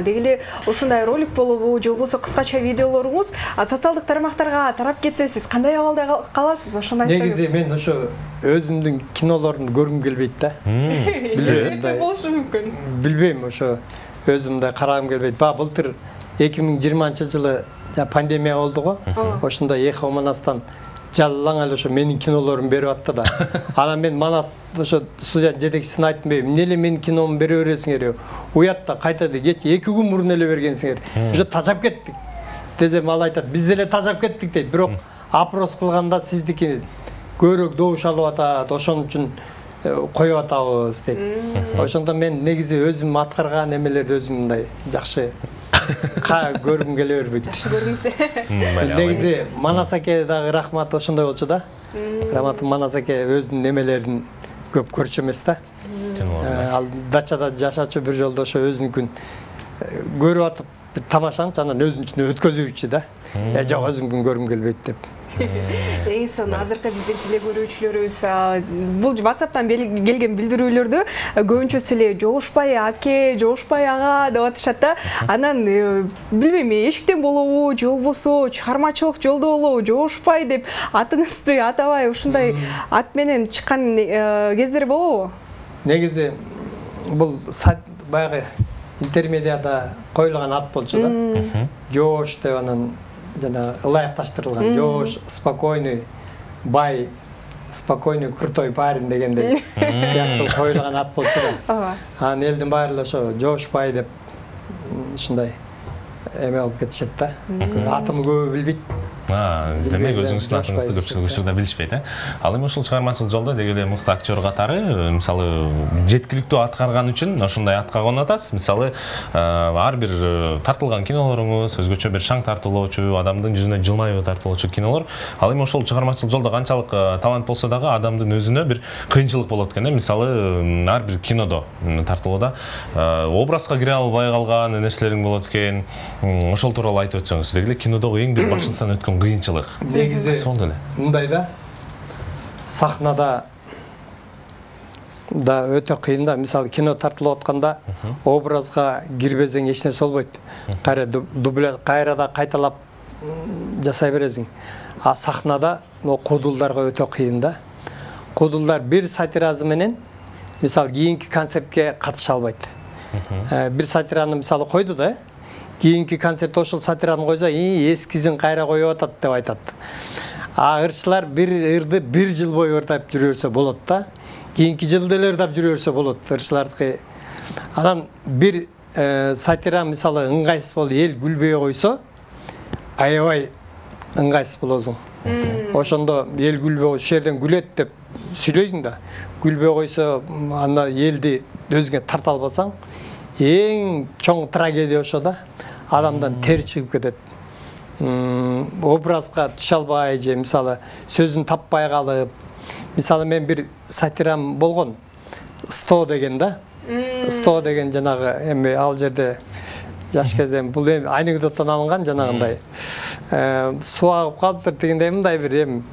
S2: дегеле ушундай ролик болобу, же болбосо кыскача видеолоруңуз социалдык тармактарга тарап кетсе, сиз кандай абалда каласыз? Ошондой айтсаңыз.
S6: Негизи мен ошо өзүмдүн кинолорун көргүм келбейт да.
S2: Себеби болушу мүмкүн.
S6: Билбейм, ошо өзүмдү карагым келбейт. Былтыр 2020-жылы пандемия болду го. Ошондо Эхо Манастан жалаң эле ошо менин кинолорумду берип атты да. Анан мен Манас ошо студия жетекчисине айттым, эмне эле менин киномду бере бересиңер? Уятта кайта кеч 2 күн мурун эле бергенсиңер. Уже тажап кеттик. Десем ал айтат, биз деле тажап кеттик дейт. Бирок опрос кылганда сиздики көбүрөөк добуш алып атат, ошон үчүн коюп атабыз дейт. Ошондо мен негизи өзүм аткарган эмелерди өзүм мындай жакшы көргүм келе бербейт.
S2: Жакшы көрүңүздөр.
S6: Негизи Манас аке дагы рахмат ошондой болчу да. Рахмат Манас аке өзүнүн эмелерин көп көрчү эмес да. Ал дачада жашачу бир жолдо ошо өзүнүкүн көрүп атып тамашанчы, анан өзүнүн өткөзүүчү да. Жок өзүмкүн көргүм келбейт деп.
S2: Эң сонун азыркы биздин телегөрүүчүлөрүбүз бул WhatsApp'тан келген билдирүүлөрдү көбүнчөсү эле жогушпай аке, жогушпай ага деп атышат да. Анан билбейм, эшиктен болобу, же болбосо чыгармачылык жолдо болобу, жогушпай деп атыңызды атабай ушундай ат менен чыккан кездер болобу?
S6: Негизи бул баягы интермедиада коюлган ат болчу да. Жош деп анан жана ылайыкташтырылган жош, спокойный, бай, спокойный, крутой парень дегендей сыяктуу коюлган ат болчу да. Анан элдин баары ошо жош бай деп ушундай эме болуп кетишет да. Атымды көбү билбейт.
S1: Демек өзүңүздүн атыңызды көпчүлүк учурда билишпейт, Ал эми ушул чыгармачылык жолдо деги эле мыкты актер катары, мисалы, жеткиликтүү аткарган үчүн ошондой атка конотасыз. Мисалы, ар бир тартылган кинолоруңуз өзгөчө бир шаң тартуулоочу, адамдын жүзүнө жылмайбы тартуулоочу кинолор. Ал эми ошол чыгармачылык жолдо канчалык талант болсо дагы адамдын өзүнө бир кыйынчылык болот экен. Мисалы, ар бир кинодо тартуулоодо образга кире албай калган нерселериң болот экен. Ошол тууралуу айтып өтсөңүз. Деги эле кинодогу эң бир башыңыздан өткөн кыйынчылык.
S6: Негизи мындай да. Сахнада да өтө кыйын да. Мисалы, кино тартылып атканда образга кирбесең эч нерсе болбойт. Дубляж кайрада кайталап жасай бересиң. А сахнада кудулдарга өтө кыйын да. Кудулдар бир сатиразы менен мисалы кийинки концертке катыша албайт. Бир сатираны мисалы койду да. Кийинки концерт ошол сатираны койсо, эскизин кайра коюп атат деп айтат. А ырчылар бир ырды бир жыл бою ырдап жүрө берсе болот да. Кийинки жылы деле ырдап жүрө берсе болот ырчылардыкы. Анан бир сатира мисалы ыңгайсыз болуп эл күлбөй койсо, аябай ыңгайсыз болосуң. Ошондо эл күлбөй ушул жерден күлөт деп сүйлөйсүң да. Күлбөй койсо, анда элди өзүңө тарта албасаң, эң чоң трагедия ошо да. Адамдан тер чыгып кетет. Образга түшө албай же мисалы сөзүн таппай калып. Мисалы мен бир сатирам болгон. 100 деген да. 100 деген жанагы эми ал жерде жаш кезде бул эми анекдоттон алынган жанагындай. Суу агып калыптыр дегендей мындай бир эми.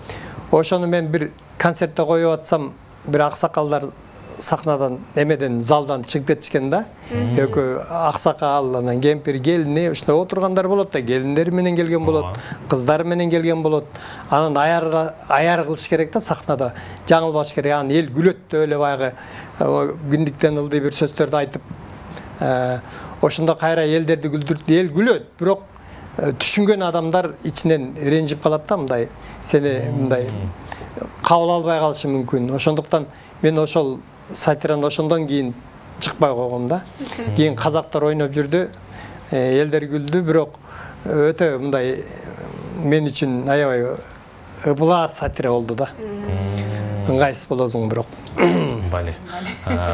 S6: Ошону мен бир концертте коюп атсам, бир аксакалдар сахнадан эмеден залдан чыгып кетишкен да. Экөө аксакал, анан кемпир, келини ушундай отургандар болот да. Келиндери менен келген болот, кыздары менен келген болот. Анан аяр кылыш керек да сахнада. Жаңылбаш керек. Анан эл күлөт деп эле баягы күндүктен ылдый бир сөздөрдү айтып, ошондо кайра элдерди күлдүрүп, эл күлөт, бирок түшүнгөн адамдар ичинен ренжип калат да, мындай сени мындай кабыл албай калышы мүмкүн. Ошондуктан мен ошол сатираны ошондон кийин чыкпай койгом да. Кийин казактар ойноп жүрдү, элдер күлдү, бирок өтө мындай мен үчүн аябай ыбылаа сатира болду да. Ыңгайсыз болосуң бирок.
S1: Бали.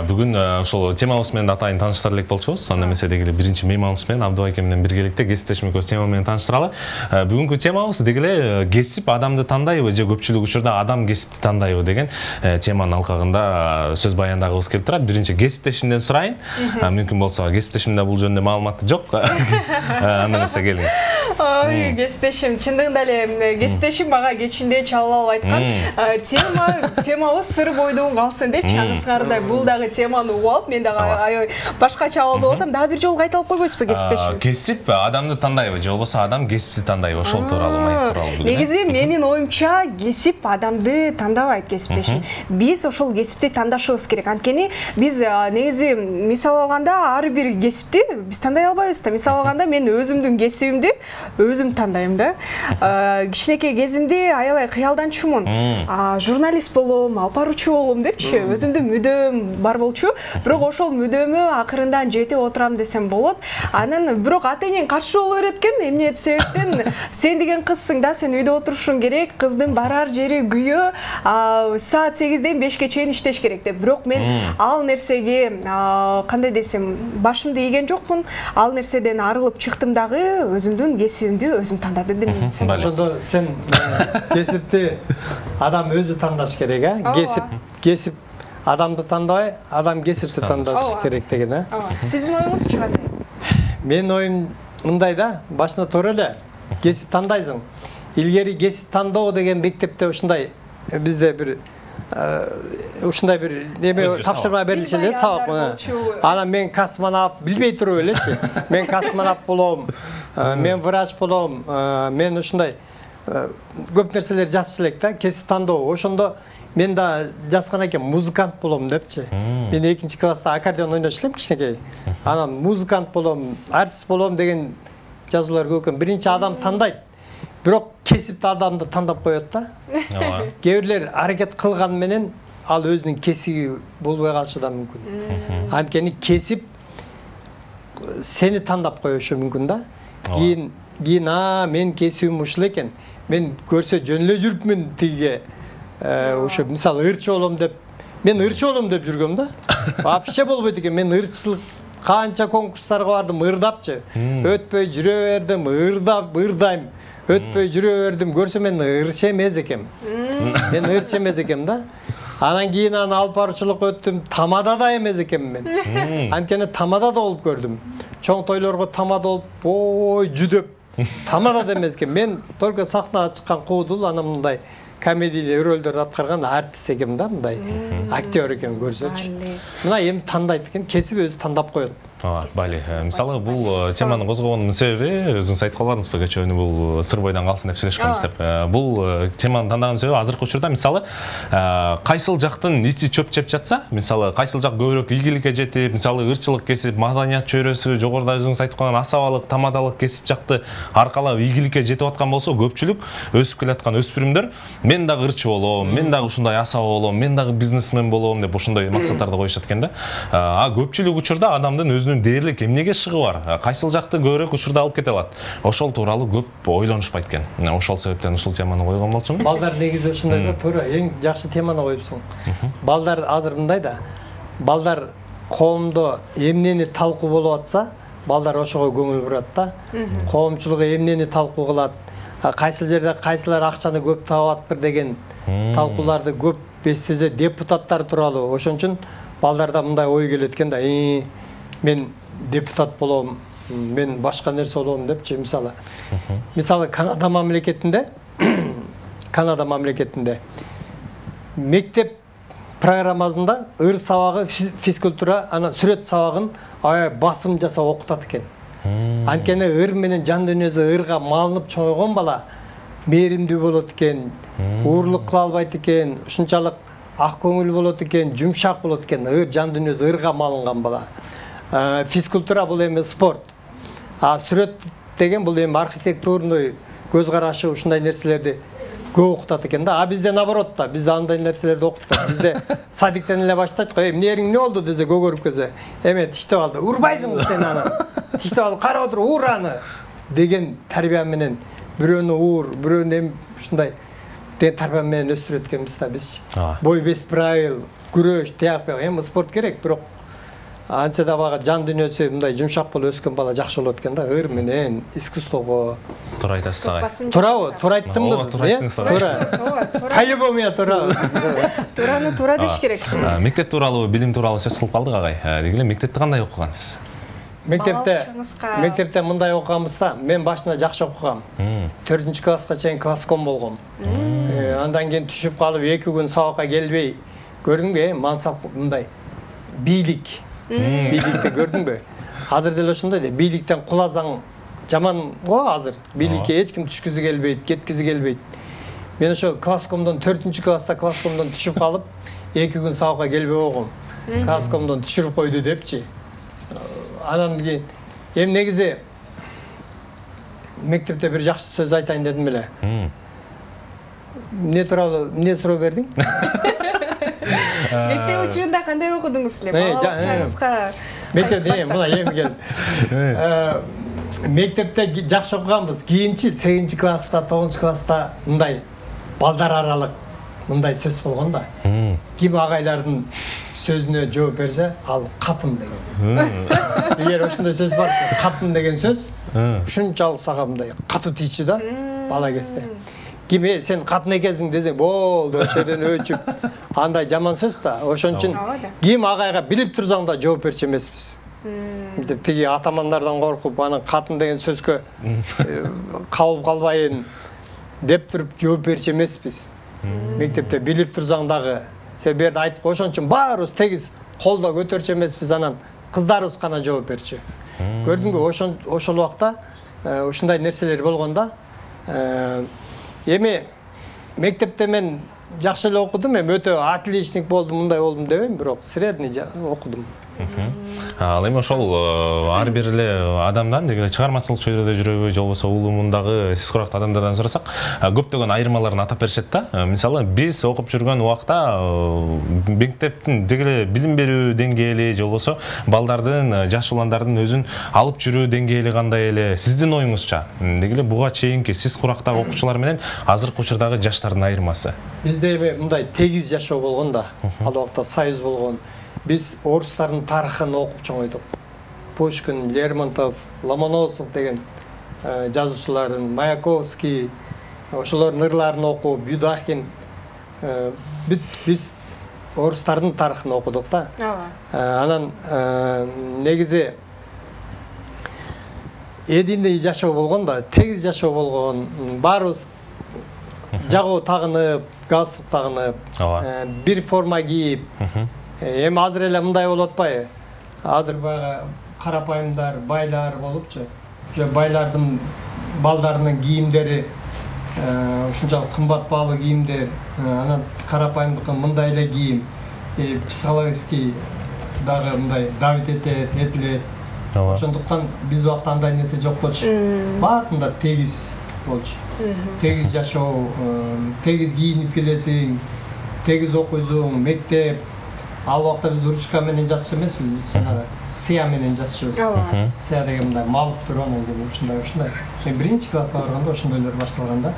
S1: Бүгүн ошол темабыз менен атайын тааныштыра элек болчубуз. Анда эмесе деги эле биринчи мейманыбыз менен Абдубай эке менен биргеликте кесиптешимиз тема менен тааныштыралы. Бүгүнкү темабыз деги эле кесип адамды тандайбы же көпчүлүк учурда адам кесипти тандайбы деген теманын алкагында сөз баяндагыбыз келип турат. Биринчи кесиптешимден сурайын. Мүмкүн болсо кесиптешимде бул жөнүндө маалыматы жок. Анда эмесе келиңиз.
S2: Ой, кесиптешим чындыгында эле кесиптешим мага кечинде чалып айткан темабыз сыр бойдон калсын деп чаңсыңардай бул дагы теманы угуп алып, мен дагы аябай башкача алып атам. Дагы бир жолу кайталап койбойсузбу кесиптешим?
S1: Кесип адамды тандайбы же болбосо адам кесипти тандайбы? Ошол тууралуу маек тууралуу.
S2: Негизи менин оюмча кесип адамды тандабайт кесиптешим. Биз ошол кесипти тандашыбыз керек. Анткени биз негизи мисал алганда ар бир кесипти биз тандай албайбыз да. Мисал алганда мен өзүмдүн кесибимди өзүм тандайм да. Кичинекей кезимде аябай кыялданчумун. Журналист болом, алып баруучу болом депчи, өзүмдүн мүдөм бар болчу. Бирок ошол мүдөөмө акырындан жетип отурам десем болот. Анан бирок ата-энең каршы боло берет экен. Эмне себептен сен деген кызсың да, сен үйдө отурушуң керек, кыздын барар жери күйөө, саат 8-ден 5-ке чейин иштеш керек деп. Бирок мен ал нерсеге кандай десем, башымды ийген жокмун. Ал нерседен арылып чыктым дагы, өзүмдүн кесибимди өзүм тандадым деп десем.
S6: Ошондо сен кесипти адам өзү тандаш керек, кесип адамды тандабай, адам кесипти тандаш керек деген,
S2: Сиздин оюңузчу кандай?
S6: Менин оюм мындай да, башында туура эле кесип тандайсың. Илгери кесип тандоо деген мектепте ушундай бизде бир ушундай бир неме тапшырма берилчү эле, сабак. Анан мен космонавт билбей туруп элечи. Мен космонавт болом, мен врач болом, мен ушундай көп нерселер жазчу элек да, кесип тандоо. Ошондо мен да жазган экен, музыкант болом депчи. Мен 2-чи класста аккордеон ойноч элем кичинекей. Анан музыкант болом, артист болом деген жазуулар көп экен. Биринчи адам тандайт. Бирок кесипти адамды тандап коет да. Кээ бирлер аракет кылган менен ал өзүнүн кесиби болбой калышы да мүмкүн. Анткени кесип сени тандап коюшу мүмкүн да. Кийин мен кесибим ушул экен. Мен көрсө жөн эле жүрүпмүн тиге. Ошо мисалы ырчы болом деп, мен ырчы болом деп жүргөм да. Вообще болбойт экен. Мен ырчылык канча конкурстарга бардым, ырдапчы. Өтпөй жүрө бердим, ырдайм. Өтпөй жүрө бердим. Көрсө мен ырчы эмес экем. Мен ырчы эмес экем да. Анан кийин алып баруучулук өттүм. Тамада да эмес экем мен. Анткени тамада да болуп көрдүм. Чоң тойлорго тамада болуп, жүдөп. Тамада да эмес экен. Мен только сахнага чыккан куудул, анан мындай комедиялы рөлдөрдү аткарган артист экем да, мындай актер экен көрсөчү. Мына эми тандайт экен, кесип өзү тандап коет.
S1: Бали. Мисалы бул теманы козгогондун себеби, өзүңүз айтып калбадыңызбы, кечээ бул сыр бойдон калсын деп сүйлөшкөнбүз деп. Бул теманы тандаган себеби азыркы учурда мисалы кайсыл жактын ити чөп жеп жатса, мисалы кайсыл жак көбүрөөк ийгиликке жетип, мисалы ырчылык кесип, маданият чөйрөсү, жогоруда өзүңүз айтып калган асабалык, тамадалык кесип жакты аркалап ийгиликке жетип аткан болсо, көпчүлүк өсүп келаткан өспүрүмдөр мен дагы ырчы болом, мен дагы ушундай асаба болом, мен дагы бизнесмен болом деп ошондой максаттарды коюшат экен да. Көпчүлүк учурда адамдын өзүнүн дээрлик эмнеге шыгы бар, кайсыл жакты көбүрөөк учурда алып кете алат. Ошол тууралуу көп ойлонушпайт экен. Ошол себептен ушул теманы койгон болчумун.
S6: Балдар негизи ушундай да, туура, эң жакшы теманы коюпсуң. Балдар азыр мындай да. Балдар коомдо эмнени талкуу болуп атса, балдар ошого көңүл бурат да. Коомчулук эмнени талкуу кылат, кайсыл жерде кайсылар акчаны көп табаттыр деген талкууларды көп эстесе депутаттар тууралуу. Ошон үчүн балдарда мындай ой келет экен да. Мен депутат болом, мен башка нерсе болом депчи, мисалы. Мисалы Канада мамлекетинде мектеп программасында ыр сабагы, физкультура, анан сүрөт сабагын басым жасап окутат экен. Анткени ыр менен жан дүйнөсү ырга малынып чоңойгон бала мээримдүү болот экен, уурлук кыла албайт экен, ушунчалык ак көңүл болот экен, жумшак болот экен. Ыр жан дүйнөсү ырга малынган бала. Физкультура бул эми спорт. Сүрөт деген бул эми архитектурный көз карашы, ушундай нерселерди көп окутат экен да. Бизде наоборот да, бизде андай нерселерди окутпайт. Бизде садиктен эле баштайт го, эмне эриң не болду десе, көгөрүп келсе, эме тиштеп алды, урбайсыңбы сен аны? Тиштеп алып кара отур, уур аны деген тарбия менен бирөөнү уур, бирөөнү ушундай деген тарбия менен өстүрөт экенбиз да бизчи. Бой без правил, күрөш, тияк, эми спорт керек, бирок антсе да бага жан дүйнөсү мындай жумшак болуп өскөн бала жакшы болот экен да, ыр менен искусствого.
S1: Туура айтасыз агай.
S6: Туурабы? Туура айттымбы? Туура. По-любому туура.
S2: Туураны туура деш керек.
S1: Мектеп тууралуу, билим тууралуу сөз кылып калдык агай. Дегеле мектепте кандай окугансыз?
S6: Мектепте мындай окуганбыз да. Мен башында жакшы окугам. 4-чү класска чейин класском болгом. Андан кийин түшүп калып 2 күн сабакка келбей, көрдүңбү, мансап мындай бийлик. Бийликти көрдүңбү? Азыр деле ошондой да, бийликтен куласаң жаман го азыр. Бийликке эч ким түшкүзү келбейт, кеткизи келбейт. Мен ошо класскомдон 4-чү класста класскомдон түшүп калып, 2 күн сабакка келбей болгом. Класскомдон түшүрүп койду депчи. Анан кийин эми негизи мектепте бир жакшы сөз айтайын дедим эле. Эмне тууралуу эмне суроо бердиң?
S2: Мектеп учурунда кандай окудуңуз эле? Балалык чагыңызга.
S6: Мектепте мына эми кел. Мектепте жакшы окуганбыз. Кийинчи 8-класста, 9-класста мындай балдар аралык мындай сөз болгон да. Ким агайлардын сөзүнө жооп берсе, ал катын деген. Эгер ошондой сөз бар, катын деген сөз ушунчалык сага мындай катуу тийчү да бала кезде. Ким сен катын экенсиң десе, болду, ошол жерден өчүп, андай жаман сөз да. Ошон үчүн ким агайга билип турсаң да жооп берчү эмеспиз. Деп тиги атамандардан коркуп, анан катын деген сөзгө кабылып калбайын деп туруп жооп берчү эмеспиз. Мектепте билип турсаң дагы сен берди айтып, ошон үчүн баарыбыз тегиз колдо көтөрчү эмеспиз, анан кыздарыбыз гана жооп берчү. Көрдүңбү, ошол убакта ушундай нерселер болгон да. Эми мектепте мен жакшы эле окудум, эми өтө отличник болдум, мындай болдум дебейм, бирок средний окудум.
S1: Ал эми ошол ар бир эле адамдан деги чыгармачылык чөйрөдө жүрөбү, же болбосо улумундагы сиз курактуу адамдардан сурасак, көптөгөн айырмаларын атап беришет да. Мисалы, биз окуп жүргөн убакта мектептин деги эле билим берүү деңгээли, же болбосо балдардын, жаш уландардын өзүн алып жүрүү деңгээли кандай эле? Сиздин оюңузча, деги эле буга чейинки сиз курактагы окуучулар менен азыркы учурдагы жаштардын айырмасы?
S6: Бизде эми мындай тегиз жашоо болгон да. Ал убакта союз болгон. Biz орустардын тарыхын окуп чоңойдук. Пушкин, Лермонтов, Ломоносов деген жазуучуларын, Маяковский, ошолордун ырларын окуп, Юдахин, биз орустардын тарыхын окудук да. Анан негизи эдиндей жашоо болгон да, тегиз жашоо болгон, баарыбыз жагуу тагынып, галстук тагынып, бир форма кийип, эми азыр эле мындай болуп атпайбы? Азыр баягы карапайымдар, байлар болупчу. Же байлардын балдарынын кийимдери ушунчалык кымбат баалуу кийимдер, анан карапайымдыкы мындай эле кийим, психологический дагы мындай давит этилет. Ошондуктан биз убакта андай нерсе жок болчу. Баардыгында тегиз болчу. Тегиз жашоо, тегиз кийинип келесиң, тегиз окуйсуң, мектеп. Ал убакта биз ручка менен жазчу эмеспиз, биз жанагы сыя менен жазчубуз. Сыя деген мындай малып туруп, анан ушундай. Мен 1-класска барганда ошондойлор башталган да.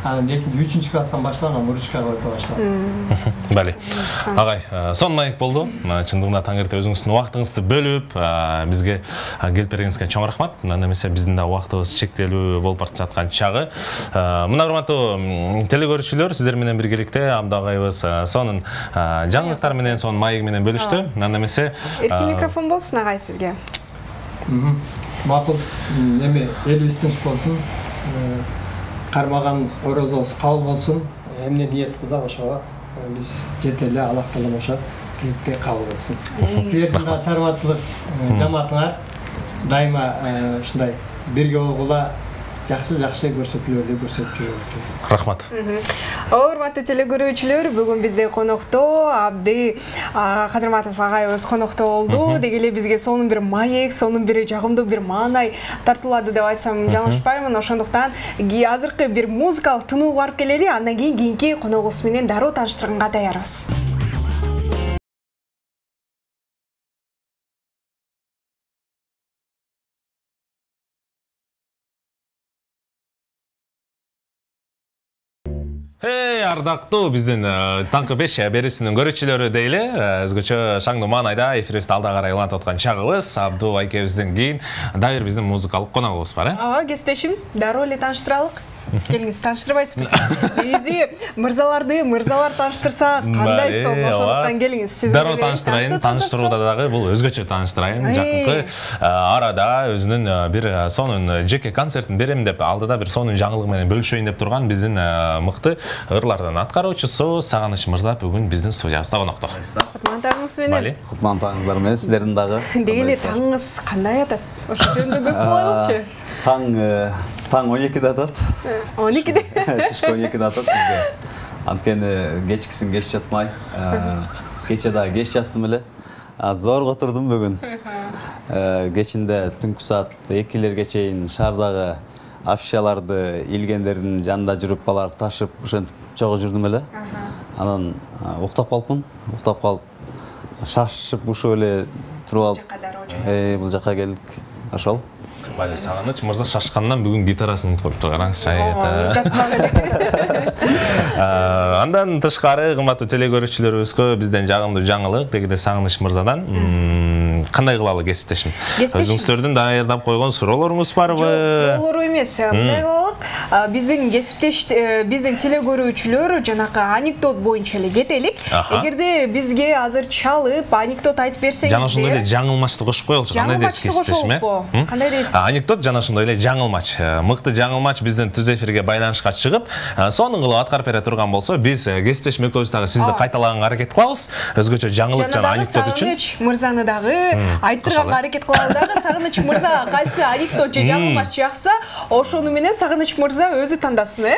S6: Анан 2-3 класстан башталган ручкага өтө баштадым.
S1: Бали. Агай, сон маек болду. Чындыгында таң эрте өзүңүздүн убактыңызды бөлүп, бизге келип бергениңизге чоң рахмат. Анда эмесе биздин да убактыбыз чектелүү болуп бара жаткан чагы. Мына урматтуу телекөрүүчүлөр, сиздер менен биргеликте Абду агайыбыз сонун жаңылыктар менен, сонун маек менен бөлүштү. Анда эмесе
S2: эркин микрофон болсун агай сизге.
S6: Макул, эми элибиз тынч болсун. Кармаган орозобуз кабыл болсун. Эмне ниет кылсак ошого биз жете эле, Аллах таала ошо тилекке кабыл кылсын. Силердин да чарбачылык жамаатыңар дайыма ушундай бирге болгула, жакшы көрсөтүүлөрдү көрсөтүп жүрөлү.
S1: Рахмат.
S2: Урматтуу телекөрүүчүлөр, бүгүн бизде конокто Абды Кадырматов агайыбыз конокто болду. Деги эле бизге сонун бир маек, сонун бир жагымдуу бир маанай тартуулады деп айтсам жаңылышпаймын. Ошондуктан азыркы бир музыкалык тынууга барып келели, андан кийин кийинки коногубуз менен дароо тааныштырганга даярбыз.
S1: Ардактуу биздин таңкы 5 берүүсүнүн көрүүчүлөрү дейли, өзгөчө шаңдуу маанайда эфирибизди алда карай улантып аткан чагыбыз Абду айкебизден кийин дагы бир биздин музыкалык коногубуз бар,
S2: кесиптешим, дароо эле тааныштыралык. Келиңиз, тааныштырбайсызбы? Бизи мырзалар тааныштырса кандай сон, ошондуктан келиңиз. Сиз
S1: дароо тааныштырайын, тааныштырууда дагы бул өзгөчө тааныштырайын. Жакынкы арада өзүнүн бир сонун жеке концертин берем деп, алдыда бир сонун жаңылык менен бөлүшөйүн деп турган биздин мыкты ырлардын аткаруучусу Сагыныч мырза бүгүн биздин студиябызда конокто.
S2: Кутман таңыңыз менен.
S8: Кутман таңыңыздар менен, сиздердин дагы.
S2: Деги эле таңыңыз кандай атат? Ошо жөнүндө көп коелучу.
S8: Таң 12-де атат.
S2: 12-де?
S8: Түшкө 12-де атат бизде. Анткени кечкисин кеч жатмай. Кече дагы кеч жаттым эле. Зорго турдум бүгүн. Кечинде түнкү саат 2-лерге чейин шаардагы афишаларды илгендердин жанында жүрүп балар ташып ошентип чогуу жүрдүм эле. Анан уктап калыпмын. Уктап калып шашып ушуп эле туруп алып, бул жака келдик. Ошол.
S1: Бали Сагыныч мырза шашкандан бүгүн гитарасын утуп коюпту. Караңызчы. Андан тышкары кымбаттуу телекөрүүчүлөрүбүзгө бизден жагымдуу жаңылык дегенде Сагыныч мырзадан кандай кылалы кесиптешим? Өзүңүздөрдүн даярдап койгон суроолоруңуз барбы?
S2: Жок, суроолор эмес. Мындай кылалык. Биздин кесиптеш, биздин телекөрүүчүлөр жанакы анекдот боюнча эле кетелик. Эгерде бизге азыр чалып анекдот айтып берсеңиздер.
S1: Жана ошондой эле жаңылмачты кошуп коелучу. Кандай дейсиз кесиптешим?
S2: Кандай дейсиз?
S1: Анекдот жана ошондой эле жаңылмач. Мыкты жаңылмач биздин түз эфирге байланышка чыгып, сонун кылып аткарып бере турган болсо, биз кесиптешим экөөбүз сизди кайталаганга аракет кылабыз. Өзгөчө жаңылык жана анекдот үчүн.
S2: Сагыныч мырзаны дагы айттырганга аракет кылалы дагы. Сагыныч мырза кайсы анекдот же жаңылмач жакса, ошону менен Сагыныч мырза өзү тандасын,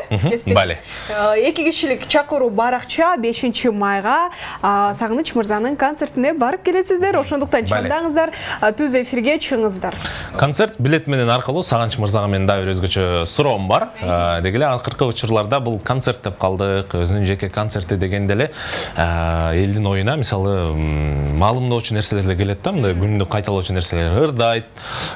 S1: Бали.
S2: 2 кишилик чакыруу баракча 5-майга Сагыныч мырзанын концертине барып келесиздер. Ошондуктан чамдаңыздар, түз эфирге чыгыңыздар.
S1: Концерт билет менен аркылуу Сагыныч мырзага менин дагы бир өзгөчө суроом бар. Деги эле акыркы учурларда бул концерт деп калдык, өзүнүн жеке концерти дегенде эле элдин оюна мисалы маалымдоочу нерселер эле келет да, мындай күндү кайталоочу нерселер ырдайт,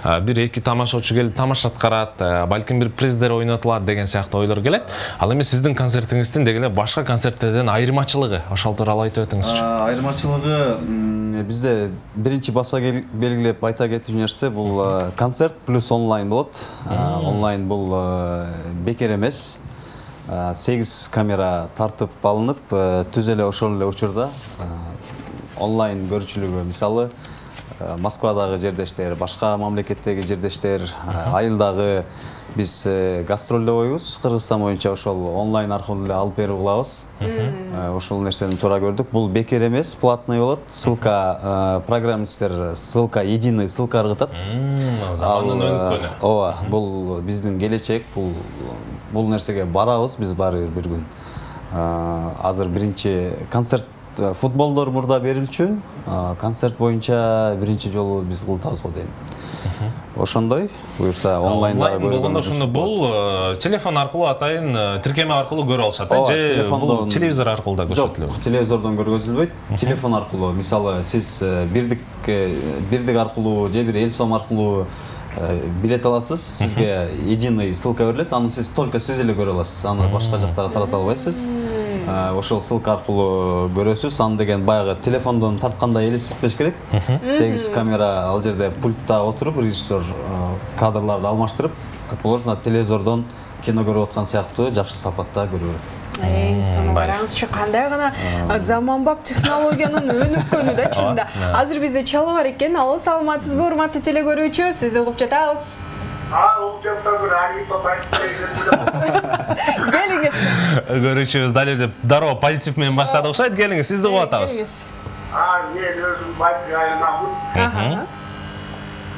S1: 1-2 тамашачы келип тамаша аткарат, балким бир приздер ойнотулат деген сыяктуу ойлор келет. Ал эми сиздин концертиңиздин деги эле башка концерттерден айырмачылыгы, ошол тууралуу айтып өтүңүзчү.
S8: Айырмачылыгы бизде биринчи баса белгилеп айта кетүүчү нерсе бул концерт плюс онлайн болот. Онлайн бул бекер эмес. 8 камера тартып алынып, түз эле ошол эле учурда онлайн көрүүчүлүгү, мисалы Москвадагы жердештер, башка мамлекеттеги жердештер, айылдагы биз гастролдойбуз Кыргызстан боюнча, ошол онлайн аркылуу эле алып берип кылабыз. Ошол нерсени туура көрдүк. Бул бекер эмес, платный болот. Ссылка программисттер ссылка, единый ссылка ыргытат.
S1: Замандын өнүккөнү.
S8: Ооба, бул биздин келечек, бул нерсеге барабыз биз баары бир күн. Азыр биринчи концерт футболдор мурда берилчү, концерт боюнча биринчи жолу биз кылтабыз го дейм. Ошондой, буюрса онлайнда
S1: болгондо ошондо бул телефон аркылуу атайын тиркеме аркылуу көрө алышат, же бул телевизор аркылуу да көрсөтүлөт?
S8: Жок, телевизордон көргөзүлбөйт. Телефон аркылуу, мисалы сиз бирдик аркылуу же бир эл сом аркылуу билет аласыз, сизге единый ссылка берилет, аны сиз только сиз эле көрө аласыз, аны башка жактарга тарата албайсыз. Ошол ссылка аркылуу көрөсүз, аны деген баягы телефондон тарткандай элестетпеш керек. 8 камера ал жерде пультта отуруп, режиссер кадрларды алмаштырып, как положено телевизордон кино көрүп аткан сыяктуу жакшы сапатта көрө берет.
S2: Сону караңызчы, кандай гана заманбап технологиянын өнүккөнү да чынында. Азыр бизде чалуу бар экен. Алло, саламатсызбы, урматтуу телекөрүүчү? Сизди угуп жатабыз. Келиңиз.
S1: Көрүүчүбүз дали деп дароо позитив менен баштады окшойт. Келиңиз, сизди угуп атабыз.
S9: Мен өзүм байкы айламын.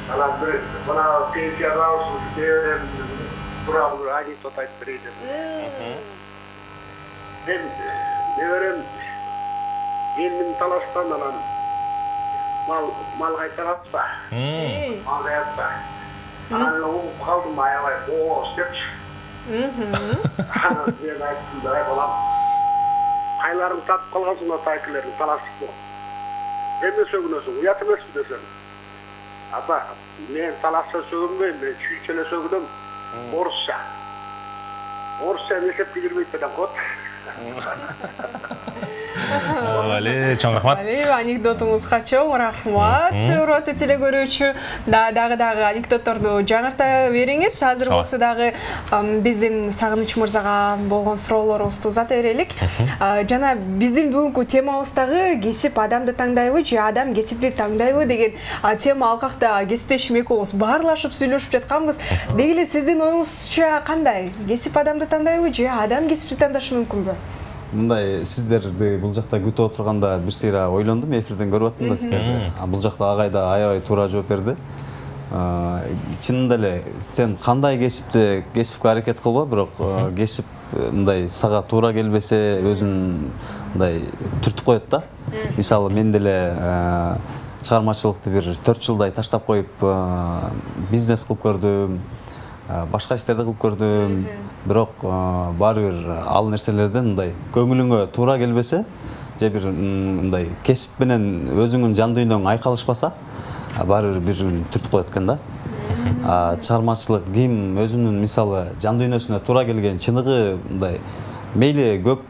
S9: Анан бир мына пенсияга алышып, тууралуу анекдот айтып берейин. Мен неберем элдин талаштан анан мал кайтарат ба? Мал кайтарат ба? Анан угуп калдым, аябай ооз депчи. Анан мен айттым да, балам, кайларын татып калгансың атайкылерин талашып. Эмне сөгүнөсүң, уят эмеспи десем. Ата, мен талашса сөгүнбөйм, мен чүйчү эле сөгүнөм. Орусча. Орусча эсепке кирбейт деген кот.
S1: Вали, чоң рахмат.
S2: Вали, анекдотуңузга чоң рахмат. Урматтуу телекөрүүчү, дагы анекдотторду жаңырта бериңиз. Азыр болсо дагы биздин Сагыныч мырзага болгон суроолорубузду узата берелик. Жана биздин бүгүнкү темабыз дагы кесип адамды таңдайбы же адам кесипти таңдайбы деген тема алкакта кесиптешим экөөбүз баарлашып сүйлөшүп жатканбыз. Деги эле сиздин оюңузча кандай? Кесип адамды таңдайбы же адам кесипти таңдашы мүмкүнбү?
S8: Мындай сиздерди бул жакта күтүп отурганда бир сыйра ойлондум, эфирден көрүп аттым да сиздерди. Бул жакта агай да аябай туура жооп берди. Чынында эле сен кандай кесипке аракет кылба, бирок кесип мындай сага туура келбесе өзүн мындай түртүп коет да. Мисалы мен деле чыгармачылыкты бир 4 жылдай таштап коюп бизнес кылып көрдүм. башка иштерди кылып көрдүм, бирок баары бир ал нерселерден мындай көңүлүңө туура келбесе, же бир мындай кесип менен өзүңүн жан дүйнөң айкалышпаса, баары бир түртүп коет экен да. Чыгармачылык ким өзүнүн мисалы жан дүйнөсүнө туура келген чыныгы мындай мейли көп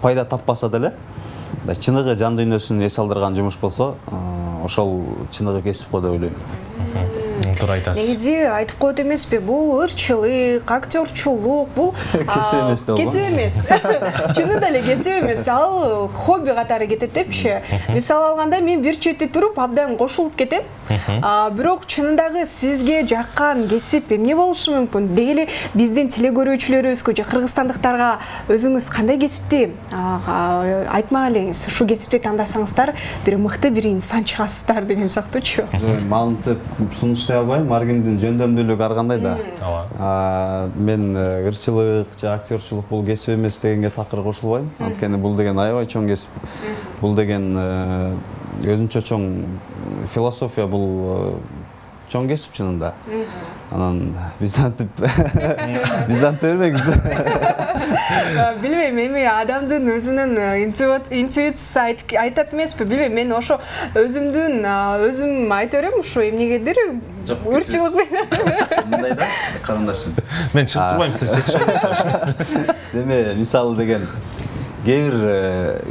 S8: пайда таппаса деле, чыныгы жан дүйнөсүн эс алдырган жумуш болсо, ошол чыныгы кесип го деп ойлойм.
S1: Туура айтасыз.
S2: Негизи айтып коет эмеспи, бул ырчылык, актёрчулук, бул
S8: кесип эмес деп
S2: кесип эмес. Чынында эле кесип эмес, ал хобби катары кетет депчи. Мисал алганда мен бир четте туруп абдан кошулуп кетем. Бирок чынындагы сизге жаккан кесип эмне болушу мүмкүн? Деги эле биздин телекөрүүчүлөрүбүзгө же кыргызстандыктарга өзүңүз кандай кесипти айтмак элеңиз? Ушу кесипти тандасаңыздар, бир мыкты бир инсан чыгасыздар деген сыяктуучу.
S8: Маалыматты сунуштай албайм, ар кимдин жөндөмдүүлүгү ар кандай да. Мен ырчылык же актёрчулук бул кесип эмес дегенге такыр кошулбайм. Анткени бул деген аябай чоң кесип. Бул деген өзүнчө чоң философия, бул чоң кесип чынында. Анан бизден бербеңиз.
S2: Билбейм, эми адамдын өзүнүн интуициясы айтат эмеспи, билбейм, мен ошо өзүм айта берем, ушу эмнегедир ырчылык менен.
S8: Мындай да, карындашым.
S1: Мен чыгып турбайм, сиздер чечишиңиз.
S8: Деме, мисалы деген кээ бир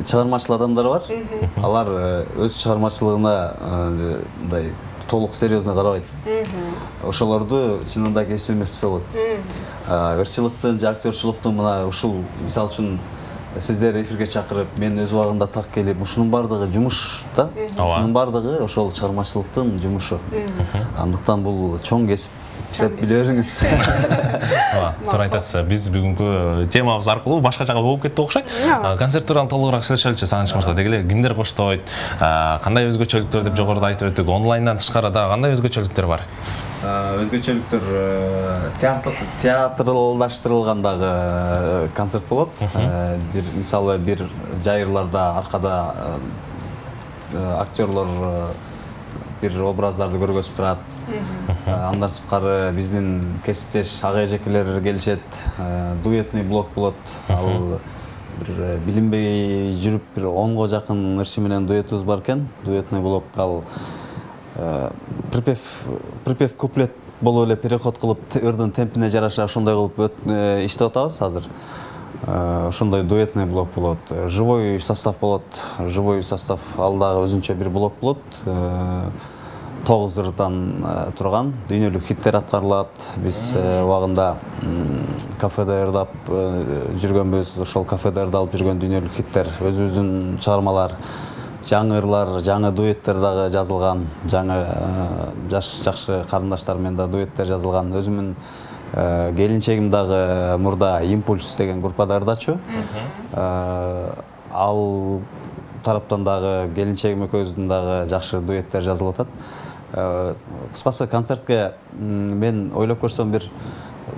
S8: чыгармачыл адамдар бар. Алар өз чыгармачылыгына мындай толук серьезно карабайт. Ошолорду чынында кесип эмес десе болот. Ырчылыктын же актёрчулуктун мына ушул мисал үчүн сиздер эфирге чакырып, мен өз убагында так келип, ушунун бардыгы жумуш да. Ушунун бардыгы ошол чыгармачылыктын жумушу. Андыктан бул чоң кесип деп биле бериңиз.
S1: Туура айтасыз. Биз бүгүнкү темабыз аркылуу башка жака болуп кетти окшойт. Концерт тууралуу толугураак сүйлөшөлүчү, Сагыныч мырза. Деги эле кимдер коштойт, кандай өзгөчөлүктөр деп жогоруда айтып өттүк. Онлайндан тышкары дагы кандай өзгөчөлүктөр бар?
S8: Өзгөчөлүктөр театралдаштырылгандагы концерт болот. Бир мисалы бир жайырларда аркада актерлор бир образдарды көргөзүп турат. Андан сырткары биздин кесиптеш ага эжекелер келишет, дуэтный блок болот. Ал бир билинбей жүрүп бир 10го жакын ырчы менен дуэтибиз бар экен. Дуэтный блок ал припев куплет болуп эле переход кылып, ырдын темпине жараша ошондой кылып иштеп атабыз азыр. Ошондой дуэтный блок болот. Живой состав болот. Живой состав ал дагы өзүнчө бир блок болот. 9 ырдан турган дүйнөлүк хиттер аткарылат. Биз убагында кафеде ырдап жүргөнбүз. Ошол кафеде ырдалып жүргөн дүйнөлүк хиттер, өзүбүздүн чыгармалар, жаңы ырлар, жаңы дуэттер дагы жазылган. Жаңы жакшы карындаштар менен да дуэттер жазылган. Өзүмүн келинчегим дагы мурда Импульс деген группада ырдачу. Ал тараптан дагы келинчегим экөөбүздүн дагы жакшы дуэттер жазылып атат. Кыскасы концертке мен ойлоп көрсөм бир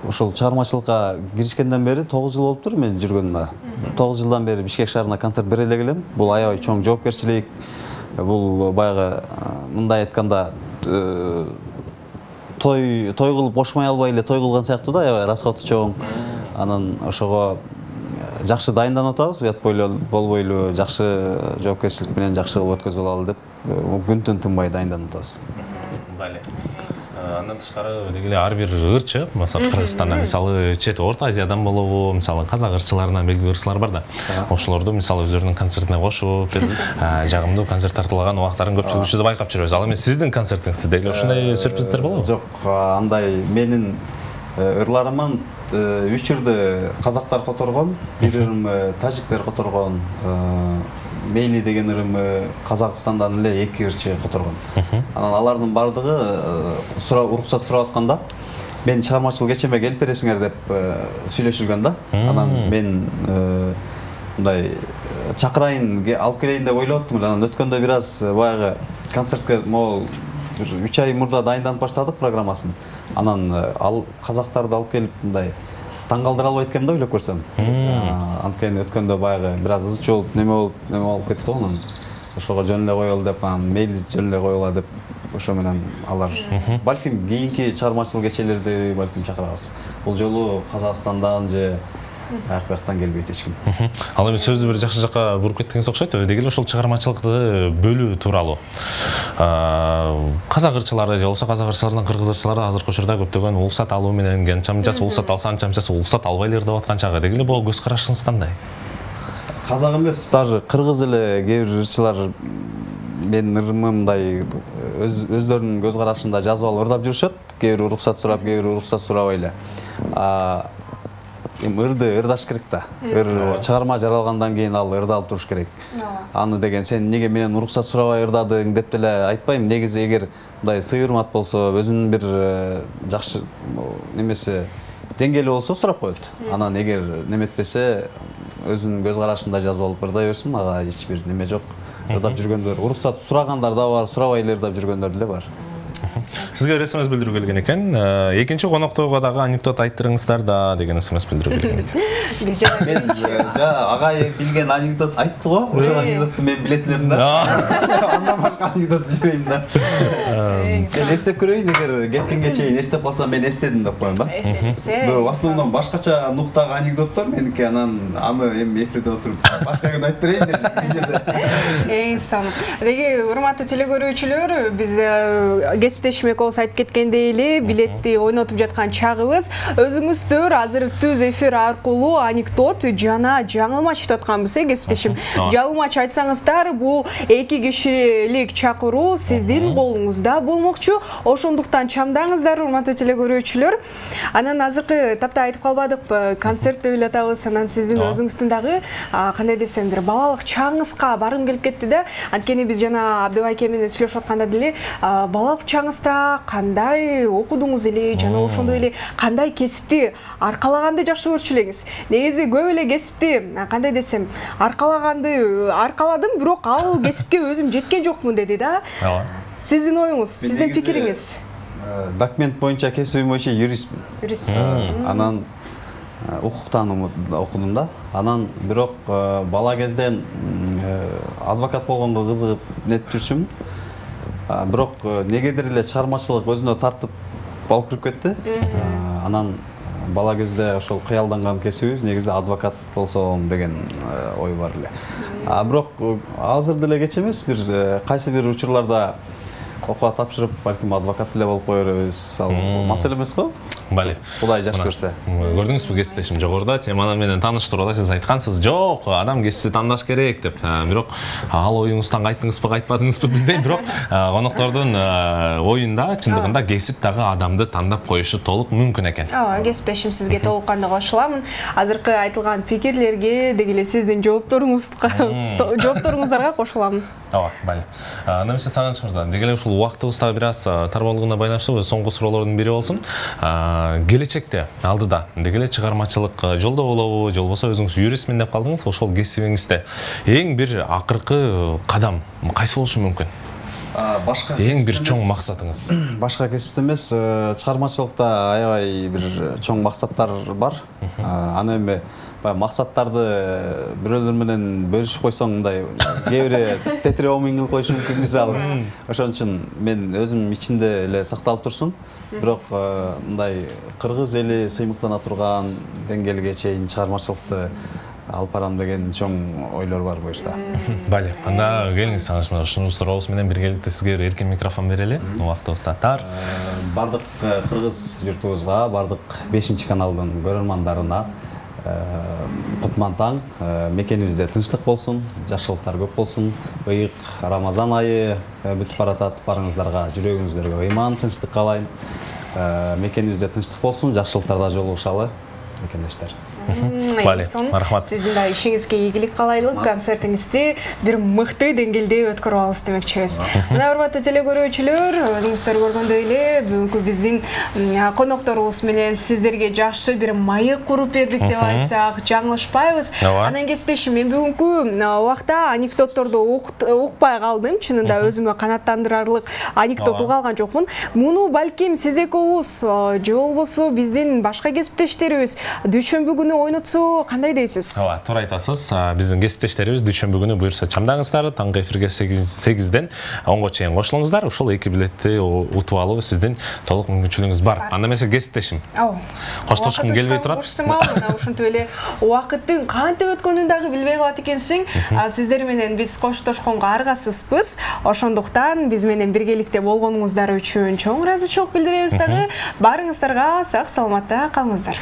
S8: ушул чыгармачылыкка киришкенден бери 9 жыл болуптур мен жүргөнүмө. 9 жылдан бери Бишкек шаарына концерт бере эле келем. Бул аябай чоң жоопкерчилик. Бул баягы мындай айтканда той кылып бошмой албай эле той кылган сыяктуу да, аябай расходу чоң. Анан ошого жакшы дайынданып атабыз, уят болбойлу, жакшы жоопкерчилик менен жакшы кылып өткөзүп алалы деп күн-түн тынбай дайынданып атабыз.
S1: Бали. Андан тышкары деги эле ар бир ырчы, мисалы Кыргызстанда, мисалы чет Орто Азиядан болобу, мисалы казак ырчыларынан белгилүү ырчылар бар да. Ошолорду мисалы өздөрүнүн концертине кошуп, жагымдуу концерт тартуулаган убактарын көпчүлүк учурда байкап жүрөбүз. Ал эми сиздин концертиңизде деги ошондой сюрприздер болобу?
S8: Жок, андай менин ырларымын 3 ырды казактар которгон, бир ырымы тажиктер которгон, Мейли деген ырымы Казакстандан эле 2 ырчы которгон. Анан алардын бардыгы уруксат сурап атканда мен чыгармачыл кечеме келип бересиңер деп сүйлөшүлгөн да. Анан мен мындай чакырайын, алып келейин деп ойлоп аттым. Анан өткөндө бир аз баягы концертке могул 3 ай мурда дайынданып баштадык программасын. Анан ал казактарды алып келип мындай таң калтыра албайт экенмин да ойлоп көрсөм. Анткени өткөндө баягы бир аз ызчы болуп, неме болуп кетти го. Анан ошого жөн эле коелу деп, мейли жөн эле коела деп ошо менен алар балким кийинки чыгармачылык кечелерди балким чакырабыз. Бул жолу Казакстандан же бияктан келбейт эч ким.
S1: Ал эми сөздү бир жакшы жакка буруп кеттиңиз окшойт. Деги эле ошол чыгармачылыкты бөлүү тууралуу. Казак ырчылары же болбосо казак ырчыларынан кыргыз ырчылары азыркы учурда көптөгөн уруксат алуу менен анчамчасы уруксат алса анчамчасы уруксат албайлар деп аткан чагы. Деги эле бул көз карашыңыз кандай?
S8: Казак эмес, даже кыргыз эле кээ бир ырчылар менин ырымымдай өздөрүнүн көз карашында жазып алып ырдап жүрүшөт. Кээ бир уруксат сурап, кээ бир уруксат сурабай эле. Ырды ырдаш керек да. Чыгарма жаралгандан кийин ал ырдалып туруш керек. Аны деген сен эмнеге менен уруксат сурабай ырдадың деп деле айтпайм. Негизи эгер мындай сый-урмат болсо, өзүнүн бир жакшы немеси деңгээли болсо сурап коет. Анан эгер неметпесе өзүнүн көз карашында жазып алып ырдай берсин, ага эч бир неме жок. Ырдап жүргөндөр, уруксат сурагандар да бар, сурабай эле ырдап жүргөндөр деле бар.
S1: Сизге бир СМС билдирүү келген экен. Экинчи коноктойго дагы анекдот айттырыңыздар да деген СМС билдирүү келген экен.
S8: Биз жана агай билген анекдот айтты го. Ошол анекдотту мен билет элем да. Андан башка анекдот билбейм да. Мен эстеп көрөйүн, эгер кеткенге чейин эстеп калсам мен эстедим деп коем да.
S2: Эстедиңиз.
S8: В основном башкача нуктагы анекдоттор меники, анан аны эми эфирде отуруп башка күн айтып берейин деп бизде.
S2: Эң сонун. Деги урматтуу телекөрүүчүлөр, биз кесиптешим экөөбүз айтып кеткендей эле билетти ойнотуп жаткан чагыбыз. Өзүңүздөр азыр түз эфир аркылуу анекдот жана жаңылмач айтып атканбыз, кесиптешим. Жаңылмач айтсаңыздар, бул 2 кишилик чакыруу сиздин колуңузда болмокчу. Ошондуктан чамдаңыздар, урматтуу телекөрүүчүлөр. Анан азыркы тапта айтып калбадыкпы, концерт деп эле атабыз. Анан сиздин өзүңүздүн дагы кандай десемдир, балалык чагыңызга баргым келип кетти да. Анткени биз жана Абдыбайке менен сүйлөшүп атканда деле балалык чагыңызда кандай окудуңуз эле, жана ошондой эле кандай кесипти аркалаганды жакшы көрчү элеңиз. Негизи көп эле кесипти кандай десем, аркаладым, бирок ал кесипке өзүм жеткен жокмун деди да. Сиздин оюңуз, сиздин пикириңиз?
S8: Документ боюнча кесибим боюнча юристмин. Анан укуктан окудум да. Анан бирок бала кезден адвокат болгонго кызыгып нетип жүрчүмүн. Бирок негедир эле чыгармачылык өзүнө тартып алып кирип кетти. Анан бала кезде ошол кыялданган кесибиз негизи адвокат болсом деген ой бар эле. Бирок азыр деле кеч эмес, бир кайсы бир учурларда окууга тапшырып, балким адвокат деле болуп кое беребиз. Ал маселе эмес го?
S1: Бали.
S8: Кудай жакшы көрсө.
S1: Көрдүңүзбү, кесиптешим жогоруда теманы менен тааныштырууда сиз айткансыз, жок, адам кесипти тандаш керек деп. Бирок ал оюңуздан кайттыңызбы, кайтпадыңызбы билбейм, бирок коноктордун оюнда чындыгында кесип дагы адамды тандап коюшу толук мүмкүн экен.
S2: Кесиптешим, сизге толук кандуу кошуламын. Азыркы айтылган пикирлерге деги эле сиздин жоопторуңуздарга кошуламын.
S1: Бали. Немесе Сагыныч мырза, деги эле ушул убактыбыз дагы бир аз тарбалыгына байланыштуу соңку суроолордун бири болсун. Келечекте алдыда деги эле чыгармачылык жолдо болобу, же болбосо өзүңүз юристмин деп калдыңыз, ошол кесибиңизде эң бир акыркы кадам кайсы болушу мүмкүн?
S8: Башка
S1: эң бир чоң максатыңыз?
S8: Башка кесипте эмес, чыгармачылыкта аябай бир чоң максаттар бар. Аны эми максаттарды бирөөлөр менен бөлүшүп койсоң, мындай кээ бири тетире омин кылып коюшу мүмкүн, мисалы. Ошон үчүн мен өзүм ичимде эле сакталып турсун. Бирок мындай кыргыз эли сыймыктана турган деңгээлге чейин чыгармачылыкты алып барам деген чоң ойлор бар буюрса.
S1: Бали, анда келиңиз Сагыныч мырза, ушул сурообуз менен биргеликте сизге эркин микрофон берели. Убактыбыз тар.
S8: Бардык кыргыз журтубузга, бардык 5-каналдын көрөрмандарына кутман таң, мекенибизде тынчтык болсун, жакшылыктар көп болсун. Ыйык Рамазан айы бүтүп баратат, барыңыздарга, жүрөгүңүздөргө ыйман, тынчтык каалайм. Мекенибизде тынчтык болсун, жакшылыктарда жолугушалы, мекендештер.
S1: Бали, мархамат.
S2: Сиздин да ишиңизге ийгилик каалайлы, концертиңизди бир мыкты деңгээлде өткөрүп алыңыз демекчибиз. Мына урматтуу телекөрүүчүлөр, өзүңүздөр көргөндөй эле бүгүнкү биздин конокторубуз менен сиздерге жакшы бир маек куруп бердик деп айтсак жаңылышпайбыз. Анан кесиптешим, мен бүгүнкү убакта анекдотторду укпай калдым. Чынында өзүмө канааттандырарлык анекдот уга алган жокмун. Муну балким сиз экөөбүз же болбосо биздин башка кесиптештерибиз дүйшөмбү күнү күнү ойнотсо кандай дейсиз?
S1: Ооба, туура айтасыз. Биздин кесиптештерибиз дүйшөмбү күнү буюрса чамдаңыздар, таңкы эфирге 8-ден 10го чейин кошулуңуздар. Ушул 2 билетти утуп алуу сиздин толук мүмкүнчүлүгүңүз бар. Анда эмесе кесиптешим. Коштошкум келбей турат.
S2: Ушинтип эле убакыттын кантип өткөнүн дагы билбей калат экенсиң. Сиздер менен биз коштошконго аргасызбыз. Ошондуктан биз менен биргеликте болгонуңуздар үчүн чоң ыраазычылык билдиребиз дагы. Барыңыздарга сак саламатта калыңыздар.